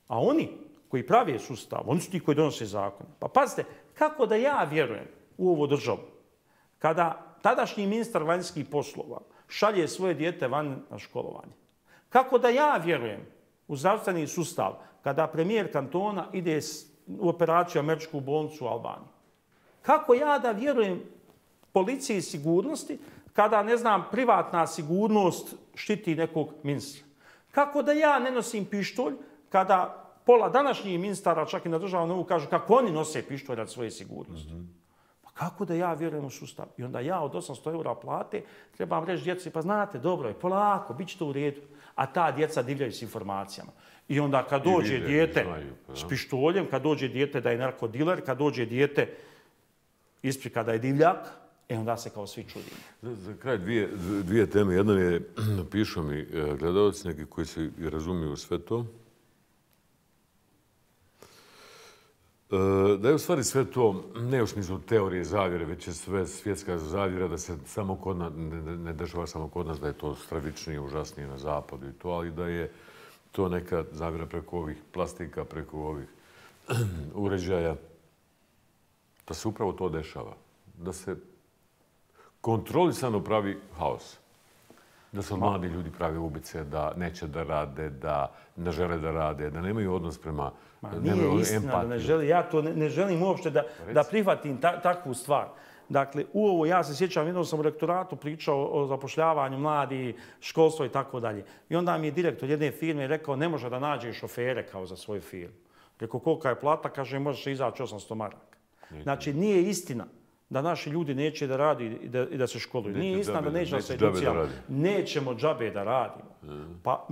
A oni koji pravi sustav, oni su ti koji donose zakon. Pa pazite, kako da ja vjerujem u ovu državu, kada tadašnji ministar vanjskih poslova šalje svoje dijete van na školovanje? Kako da ja vjerujem u zdravstveni sustav kada premijer kantona ide u operaciju američku bolnicu u Albaniji? Kako ja da vjerujem policiji sigurnosti kada, ne znam, privatna sigurnost štiti nekog ministra? Kako da ja ne nosim pištolj kada pola današnjih ministara, čak i na državnom nivou, kažu kako oni nose pištolj radi svoje sigurnosti? Pa kako da ja vjerujem u sustav? I onda ja od 800 eura plate trebam reći djeci, pa znate, dobro je, polako, bit će to u redu. A ta djeca divljaju s informacijama. I onda kad dođe dijete s pištoljem, kad dođe dijete da je narkodiler, kad dođe dijete isprika da je divljak, onda se kao svi čudimo. Za kraj dvije teme. Jedna je, pišu mi gledalci neki koji se razumiju sve to, da je u stvari sve to, ne u smislu teorije zavjere, već je sve svjetska zavjera, da se samo kod nas, ne dešava samo kod nas, da je to stravičnije, užasnije na zapadu i to, ali da je to neka zavjera preko ovih plastika, preko ovih uređaja, da se upravo to dešava. Da se kontrolisano pravi haos. Da se mladi ljudi pravi ubice, da neće da rade, da ne žele da rade, da nemaju odnos prema nije istina da ne želi. Ja to ne želim uopšte da prihvatim takvu stvar. Dakle, ja se sjećam, jednom sam u rektoratu pričao o zapošljavanju mladi, školstvo i tako dalje. I onda mi je direktor jedne firme rekao ne može da nađe šofere kao za svoju firmu. Rekao kolika je plata, kaže možeš izaći 800 maraka. Znači, nije istina da naši ljudi neće da radi i da se školuju. Nije istina da neće da se educijamo. Nećemo džabe da radimo. Pa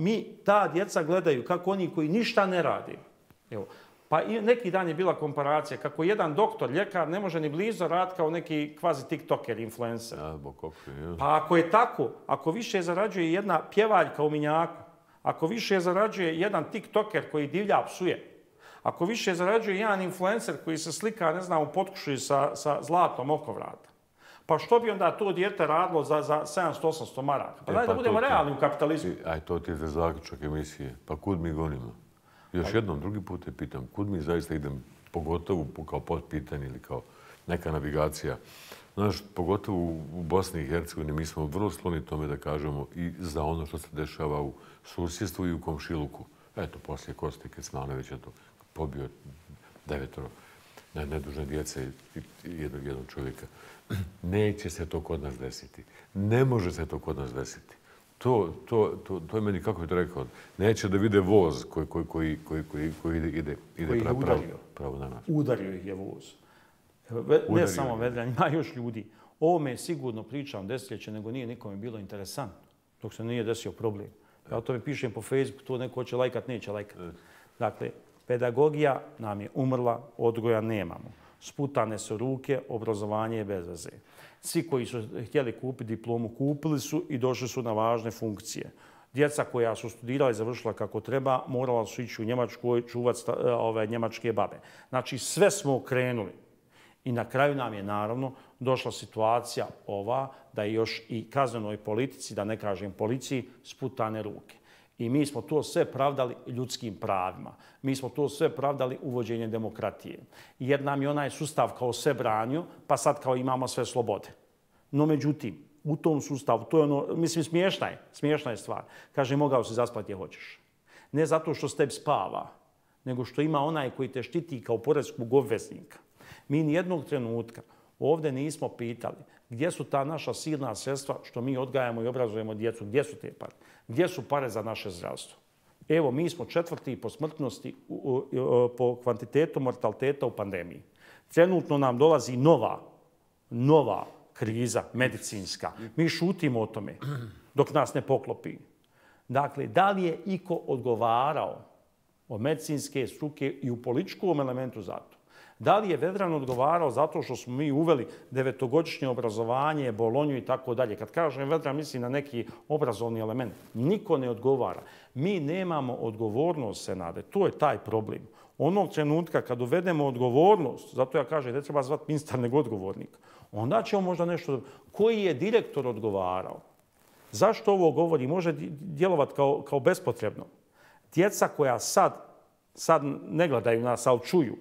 ta djeca gledaju kako oni koji ništa ne radi. Evo, pa neki dan je bila komparacija kako jedan doktor, ljekar ne može ni blizu raditi kao neki kvazi tiktoker, influencer. Pa ako je tako, ako više zarađuje jedna pjevaljka u Minjaku, ako više zarađuje jedan tiktoker koji divlja psuje, ako više zarađuje jedan influencer koji se slika, ne znam, u potkušuju sa zlatom oko vrata, pa što bi onda to dijete radilo za 700-800 maraka? Pa daj da budemo realni u kapitalizmu. Aj, to ti je za zaključak emisije. Pa kud mi gonimo? Još jednom, drugi put te pitam, kud mi zaista idem, pogotovo kao potpitanje ili kao neka navigacija. Znaš, pogotovo u Bosni i Hercegovini mi smo vrlo skloni tome da kažemo i za ono što se dešava u susjedstvu i u komšiluku. Eto, poslije Koste Kecmanovića to pobio 9 nedužne djece i jednog čovjeka. Neće se to kod nas desiti. Ne može se to kod nas desiti. To je meni, kako bih to rekao, neće da vide voz koji ide pravo na nas. Udario ih je voz. Ne samo Vedran, ima još ljudi. Ovome sigurno pričam desetljeće, nego nije nikome bilo interesantno. dok se nije desio problem. Ja o tome pišem po Facebooku, to neko hoće lajkat, neće lajkat. Dakle, pedagogija nam je umrla, odgoja nemamo. Sputane su ruke, obrazovanje je bez veze. Svi koji su htjeli kupiti diplomu, kupili su i došli su na važne funkcije. Djeca koja su studirala i završila kako treba, morala su ići u Njemačku čuvati njemačke babe. Znači, sve smo okrenuli. I na kraju nam je, naravno, došla situacija ova da je još i kaznenoj politici, da ne kažem policiji, sputane ruke. I mi smo to sve pravdali ljudskim pravima. Mi smo to sve pravdali uvođenjem demokratije. Jer nam je onaj sustav kao sve branio, pa sad kao imamo sve slobode. No, međutim, u tom sustavu, to je ono, mislim, smiješna je stvar. Kaže, mogao si zaspati gdje hoćeš. Ne zato što s tebi spava, nego što ima onaj koji te štiti kao poreskog obveznika. Mi nijednog trenutka ovdje nismo pitali gdje su ta naša silna sredstva što mi odgajamo i obrazujemo djecu, gdje su te pare, gdje su pare za naše zdravstvo. Evo, mi smo 4. po smrtnosti, po kvantitetu mortaliteta u pandemiji. Trenutno nam dolazi nova kriza medicinska. Mi šutimo o tome dok nas ne poklopi. Dakle, da li je iko odgovarao od medicinske struke i u političkom elementu za to? Da li je Vedran odgovarao zato što smo mi uveli 9-godišnje obrazovanje, Bolonju i tako dalje? Kad kažem Vedran, mislim na neki obrazovni element. Niko ne odgovara. Mi nemamo odgovornost, Senade. To je taj problem. Onog trenutka kad uvedemo odgovornost, zato ja kažem, ne treba zvati ministar nego odgovornik, onda ćemo možda nešto... Koji je direktor odgovarao? Zašto ovo govori? Može djelovati kao bespotrebno. Djeca koja sad ne gledaju nas, ali čuju.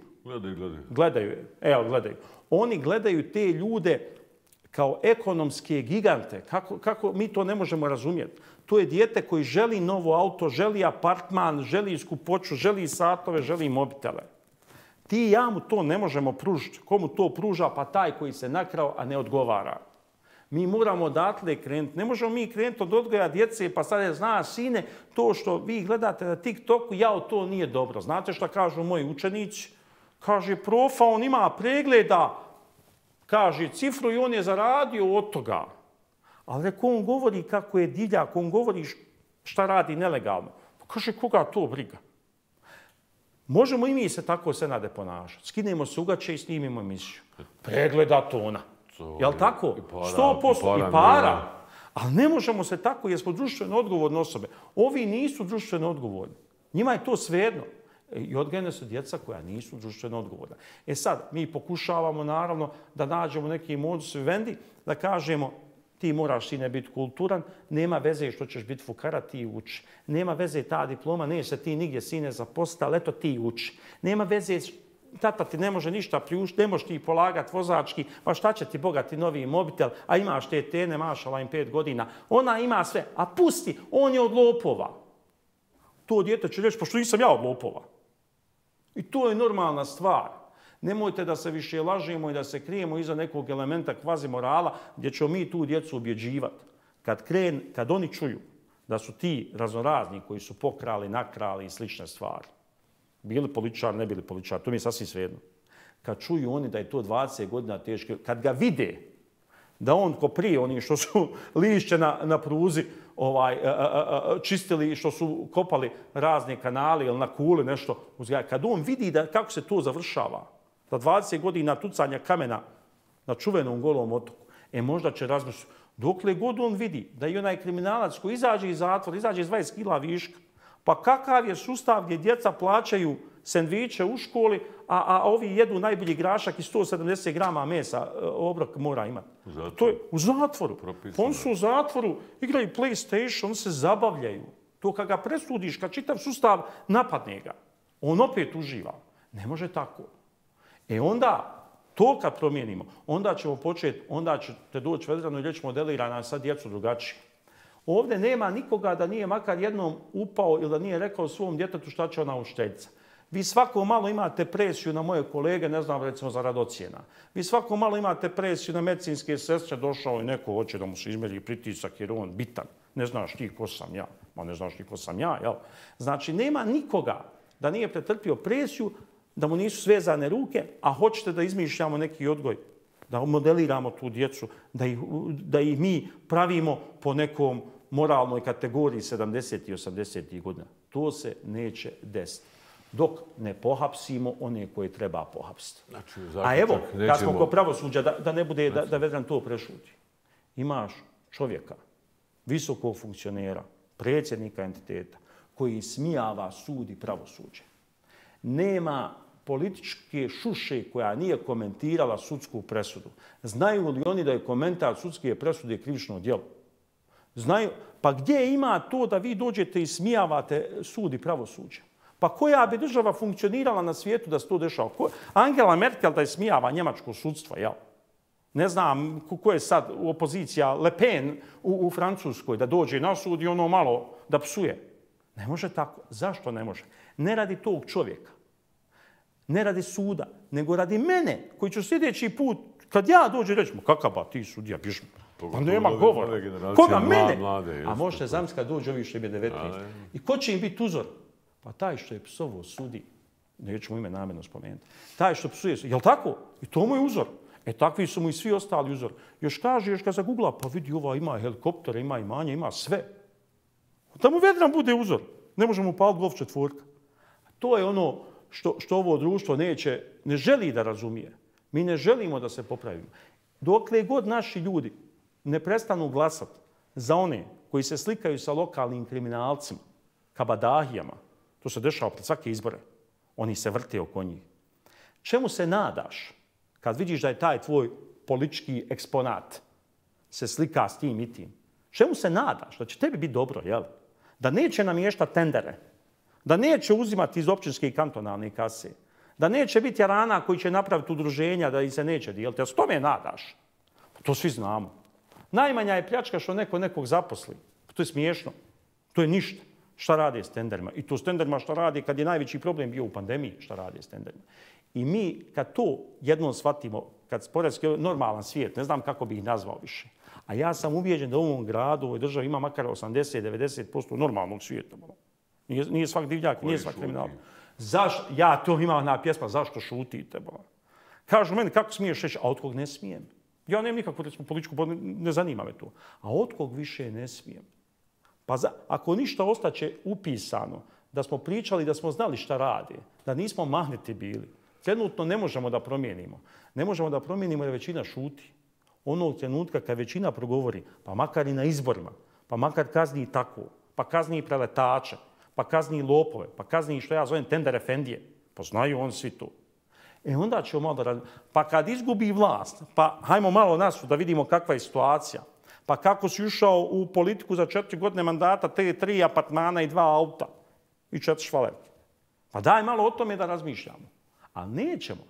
Gledaju. Oni gledaju te ljude kao ekonomske gigante. Kako mi to ne možemo razumjeti? To je dijete koji želi novo auto, želi apartman, želi skupoću, želi satove, želi mobitele. Ti i ja mu to ne možemo pružiti. Komu to pruža? Pa taj koji se nakrao, a ne odgovara. Mi moramo odatle krenuti. Ne možemo mi krenuti od odgoja djece, pa sad je, zna, sine, to što vi gledate na TikToku, to nije dobro. Znate šta kažu moji učenici? Kaže, profa, on ima pregleda, kaže, cifru i on je zaradio od toga. Ali ako on govori kako je divljak, on govori šta radi nelegalno. Pa kaže, koga to briga? Možemo i mi se tako, Senade, ponašati. Skinemo se ugače i snimimo emisiju. Pregleda to ona. Jel tako? 100% i para. Ali ne možemo se tako jer smo društveno odgovorne osobe. Ovi nisu društveno odgovorni. Njima je to svejedno. I odgajene su djeca koja nisu društveno odgovorna. Sad, mi pokušavamo naravno da nađemo neki modus vivendi, da kažemo ti moraš, sine, biti kulturan, nema veze što ćeš biti fukara, ti uči. Nema veze ta diploma, neće se ti nigdje, sine, zaposliti, ali eto ti uči. Nema veze, tata ti ne može ništa priuštiti, ne možeš ti polagati vozački, pa šta će ti bogati novi mobitel, a imaš te tene, mašala im 5 godina. Ona ima sve, a pusti, on je od lopova. To dijete će reći, pa što nisam ja od lopova? I to je normalna stvar. Nemojte da se više lažemo i da se krijemo iza nekog elementa kvazi morala gdje ćemo mi tu djecu objeđivati. Kad oni čuju da su ti raznorazni koji su pokrali, nakrali i slične stvari, bili političari, ne bili političari, to mi je sasvim svejedno. Kad čuju oni da je to 20 godina teško, kad ga vide da on ko prije, oni što su lišće na pruzi čistili, što su kopali razne kanale ili na kule nešto, kad on vidi kako se to završava, da 20 godina tucanja kamena na čuvenom Golom otoku, možda će razmišljati, dokle god on vidi da i onaj kriminalac koji izađe iz zatvora, izađe iz 20 kila viška, pa kakav je sustav gdje djeca plaćaju sendviče u školi, a ovi jedu najbolji grašak i 170 grama mesa obrok mora imati. To je u zatvoru. Oni su u zatvoru, igraju PlayStation, oni se zabavljaju. To kad ga presudiš, kad čitav sustav napadne ga, on opet uživa. Ne može tako. Onda, to kad promijenimo, onda ćemo početi, onda ćete doći Vedranu i reći modelirana sad djecu drugačije. Ovdje nema nikoga da nije makar jednom upao ili da nije rekao svom djetetu šta će ona učiteljica. Vi svako malo imate presiju na moje kolege, ne znam, recimo za rad ocjena. Vi svako malo imate presiju na medicinske sestre, došao i neko hoće da mu se izmjeri pritisak jer on bitan. Ne znaš ti ko sam ja. Ma ne znaš ti ko sam ja, jel? Znači, nema nikoga da nije pretrpio presiju, da mu nisu svezane ruke, a hoćete da izmišljamo neki odgoj, da modeliramo tu djecu, da ih mi pravimo po nekom moralnoj kategoriji 70. i 80. godina. To se neće desiti. Dok ne pohapsimo one koje treba pohapsiti. Znači, a evo, kad smo kod pravosuđa, da ne bude da Vedran to prešuti. Imaš čovjeka, visokog funkcionera, predsjednika entiteta, koji smijava sud i pravosuđe. Nema političke šuše koja nije komentirala sudsku presudu. Znaju li oni da je komentar sudske presude krivično djelo? Znaju. Pa gdje ima to da vi dođete i smijavate sud i pravosuđe? Pa koja bi država funkcionirala na svijetu da se to dešava? Angela Merkel da je smijava njemačko sudstvo, jel? Ne znam ko je sad opozicija, Le Pen u Francuskoj, da dođe na sud i ono malo da psuje. Ne može tako. Zašto ne može? Ne radi tog čovjeka. Ne radi suda, nego radi mene, koji ću sljedeći put, kad ja dođem reći, kakav ba ti sudija, piš mi. Pa nema govora. Koga? Mene? A možete zamisliti kad dođe ovi što je 19. I ko će im biti uzor? Pa taj što je psovo sudi, neću mu ime namjerno spomenuti, taj što psuje, jel tako? I to mu je uzor. Takvi su mu i svi ostali uzor. Još kaže, još kad zagugla, pa vidi, ova ima helikoptere, ima imanje, ima sve. Da mu Vedran bude uzor. Ne možemo upaliti golf četvorka. To je ono što ovo društvo ne želi da razumije. Mi ne želimo da se popravimo. Dokle god naši ljudi ne prestanu glasati za one koji se slikaju sa lokalnim kriminalcima, kabadahijama, to se dešava pred svake izbore, oni se vrte oko njih. Čemu se nadaš kad vidiš da je taj tvoj politički eksponat se slika s tim i tim? Čemu se nadaš? Da će tebi biti dobro, jel? Da neće namještati tendere, da neće uzimati iz općinske i kantonalne kase, da neće biti jarana koji će napraviti udruženja da ih se neće dijeliti. Ja s tome nadaš. To svi znamo. Najmanja je pljačka što neko nekog zaposli. To je smiješno. To je ništa. Šta rade s tenderima? I to s tenderima šta rade kad je najveći problem bio u pandemiji, šta rade s tenderima. I mi kad to jednom shvatimo, kad sporedski normalan svijet, ne znam kako bi ih nazvao više, a ja sam ubijeđen da u ovom gradu, u ovoj državi ima makar 80-90% normalnog svijeta. Nije svak divljak, nije svak kriminal. Ja to imam na pjesma, zašto šutite? Kažu meni, kako smiješ reći, a od kog ne smijem? Ja nemam nikakvu političku, ne zanima me to. A od kog više ne smijem? Pa ako ništa ostaće upisano, da smo pričali, da smo znali šta rade, da nismo mahniti bili, trenutno ne možemo da promijenimo. Ne možemo da promijenimo jer većina šuti. Onog trenutka kad većina progovori, pa makar i na izborima, pa makar kazni i tako, pa kazni i preletače, pa kazni i lopove, pa kazni i što ja zovem tender efendije, pa znaju on svi to. Onda ćemo malo da radimo. Pa kad izgubi vlast, pa hajmo malo nas da vidimo kakva je situacija, pa kako si ušao u politiku za 4 godine mandata, te 3 apartmana i 2 auta i 4 švalerke. Pa daj malo o tome da razmišljamo. Ali nećemo.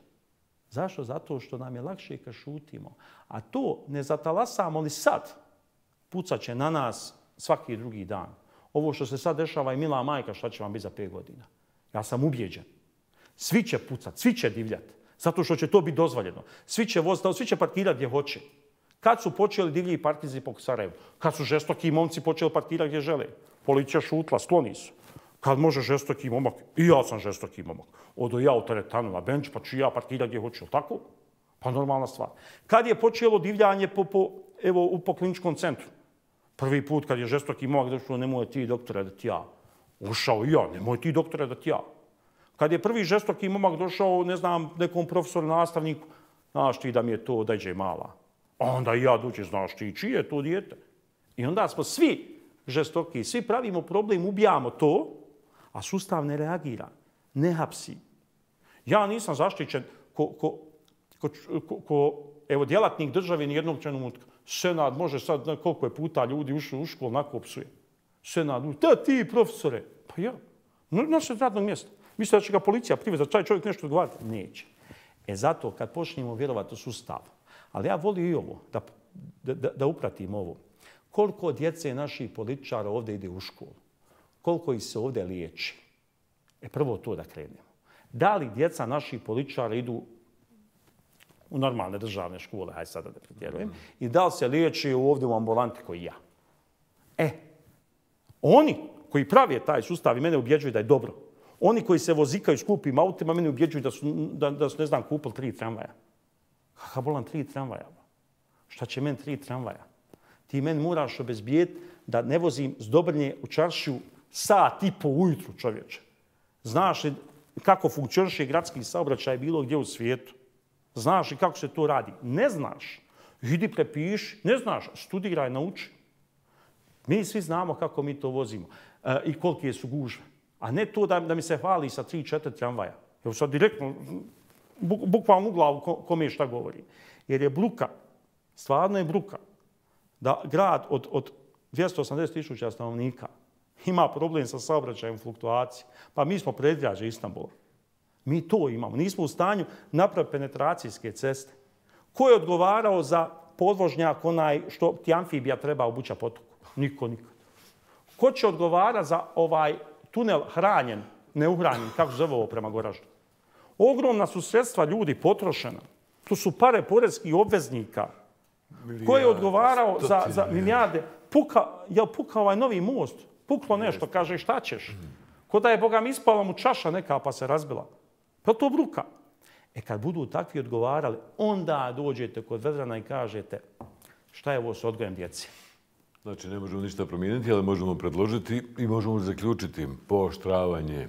Zašto? Zato što nam je lakše kad šutimo. A to ne zatalasamo li sad, pucat će na nas svaki drugi dan. Ovo što se sad dešava i mila majka, šta će vam biti za 5 godina? Ja sam ubijeđen. Svi će pucat, svi će divljati. Zato što će to biti dozvoljeno. Svi će voziti, svi će parkirati gdje hoće. Kad su počeli divlji partizi po Sarajevu? Kad su žestoki momci počeli parkirati gdje žele? Policija šutla, skloni su. Kad može žestoki momak, i ja sam žestoki momak, odo ja u teretanu na benč, pa ću ja parkirati gdje hoću, tako? Pa normalna stvar. Kad je počelo divljanje po kliničkom centru? Prvi put kad je žestoki momak došao, nemoj ti doktore da ti ja. Ušao i ja, nemoj ti doktore da ti ja. Kad je prvi žestoki momak došao, ne znam, nekom profesoru, nastavniku, znaš ti da mi je to odajđe mala. Onda i ja dođe, znaš ti, čije je to dijete? I onda smo svi žestoki, svi pravimo problem, ubijamo to, a sustav ne reagira, ne hapsi. Ja nisam zaštićen evo, djelatnik države nijednog trenutka. Senat može sad, koliko je puta ljudi ušli u školu, onako psuje. Senat, da ti profesore, pa ja, nosi od radnog mjesta. Misle da će ga policija privesti, da taj čovjek nešto odgovarati? Neće. Zato kad počnemo vjerovati u sustav, ali ja volim i ovo, da upratim ovo. Koliko djece naših političara ovdje ide u školu? Koliko ih se ovdje liječi? Prvo to da krenemo. Da li djeca naših političara idu u normalne državne škole, hajde sada da pretjerujem, i da li se liječi ovdje u ambulanti koji ja? Oni koji pravi taj sustav i mene ubjeđuju da je dobro. Oni koji se vozikaju skupim autima, mene ubjeđuju da su, ne znam, kupili 3 tramvaja. Kakav bolan 3 tramvaja? Šta će meni 3 tramvaja? Ti meni moraš obezbijeti da ne vozim s Dobrnje u čaršiju sat i po ujutru, čovječe. Znaš li kako funkcioniše gradski saobraćaj bilo gdje u svijetu? Znaš li kako se to radi? Ne znaš. Idi prepiši. Ne znaš. Studiraj, nauči. Mi svi znamo kako mi to vozimo i kolike su gužve. A ne to da mi se hvali sa 3-4 tramvaja. Evo sad direktno, bukvalno u glavu kome šta govori. Jer je bruka, stvarno je bruka, da grad od 280.000 stanovnika ima problem sa saobraćajem fluktuacije. Pa mi smo predgrađe Istanbula. Mi to imamo. Nismo u stanju napraviti penetracijske ceste. Ko je odgovarao za podvožnjak onaj što ti amfibija treba obuća potoku? Niko nikad. Ko će odgovarati za ovaj tunel hranjen, neuhranjen, kako se zove ovo prema Goraždu? Ogromna su sredstva ljudi potrošena. To su pare porezkih obveznika. Ko je odgovarao za milijarde? Jel puka ovaj novi most? Puklo nešto, kaže šta ćeš? Ko da je Boga mi ispala mu čaša neka pa se razbila. Pa to bruka. Kad budu takvi odgovarali, onda dođete kod Vedrana i kažete šta je ovo s odgojem djeci. Znači, ne možemo ništa promijeniti, ali možemo predložiti i možemo zaključiti pooštravanje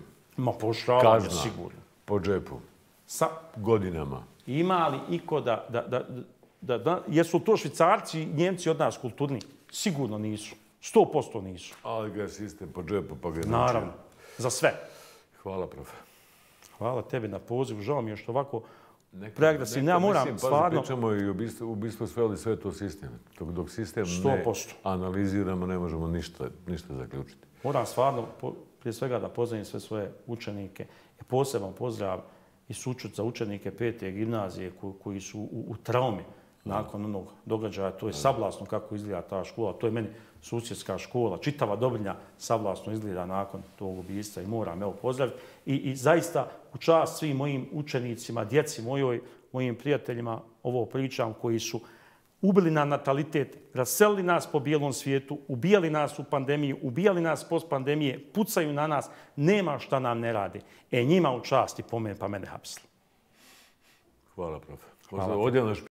kazna sigurno. Po džepu. Godinama. Ima li iko jesu to Švicarci i Njemci od nas kulturni? Sigurno nisu. 100% nisu. Ali ga je sistem po džepu, pa ga je naravno. Za sve. Hvala, profe. Hvala tebi na pozivu. Žao mi je što ovako preagresivno. Ja moram stvarno... Pričamo i ubistvo sveli sve to sistem. Dok sistem ne analiziramo, ne možemo ništa zaključiti. Moram stvarno, prije svega da pozdravim sve svoje učenike. Poseban pozdrav i sućut za učenike 5. gimnazije koji su u traumi nakon onog događaja. To je sablasno kako izgleda ta škola. To je meni susjedska škola. Čitava Dobrnja sablasno izgleda nakon tog ubistva i moram pozdraviti. I zaista u čast svim mojim učenicima, djeci mojim prijateljima ovo pričam koji su ubili na natalitet, raselili nas po bijelom svijetu, ubijali nas u pandemiji, ubijali nas post pandemije, pucaju na nas, nema šta nam ne rade. Njima u čast i pomen pa mene hapsili. Hvala, profe.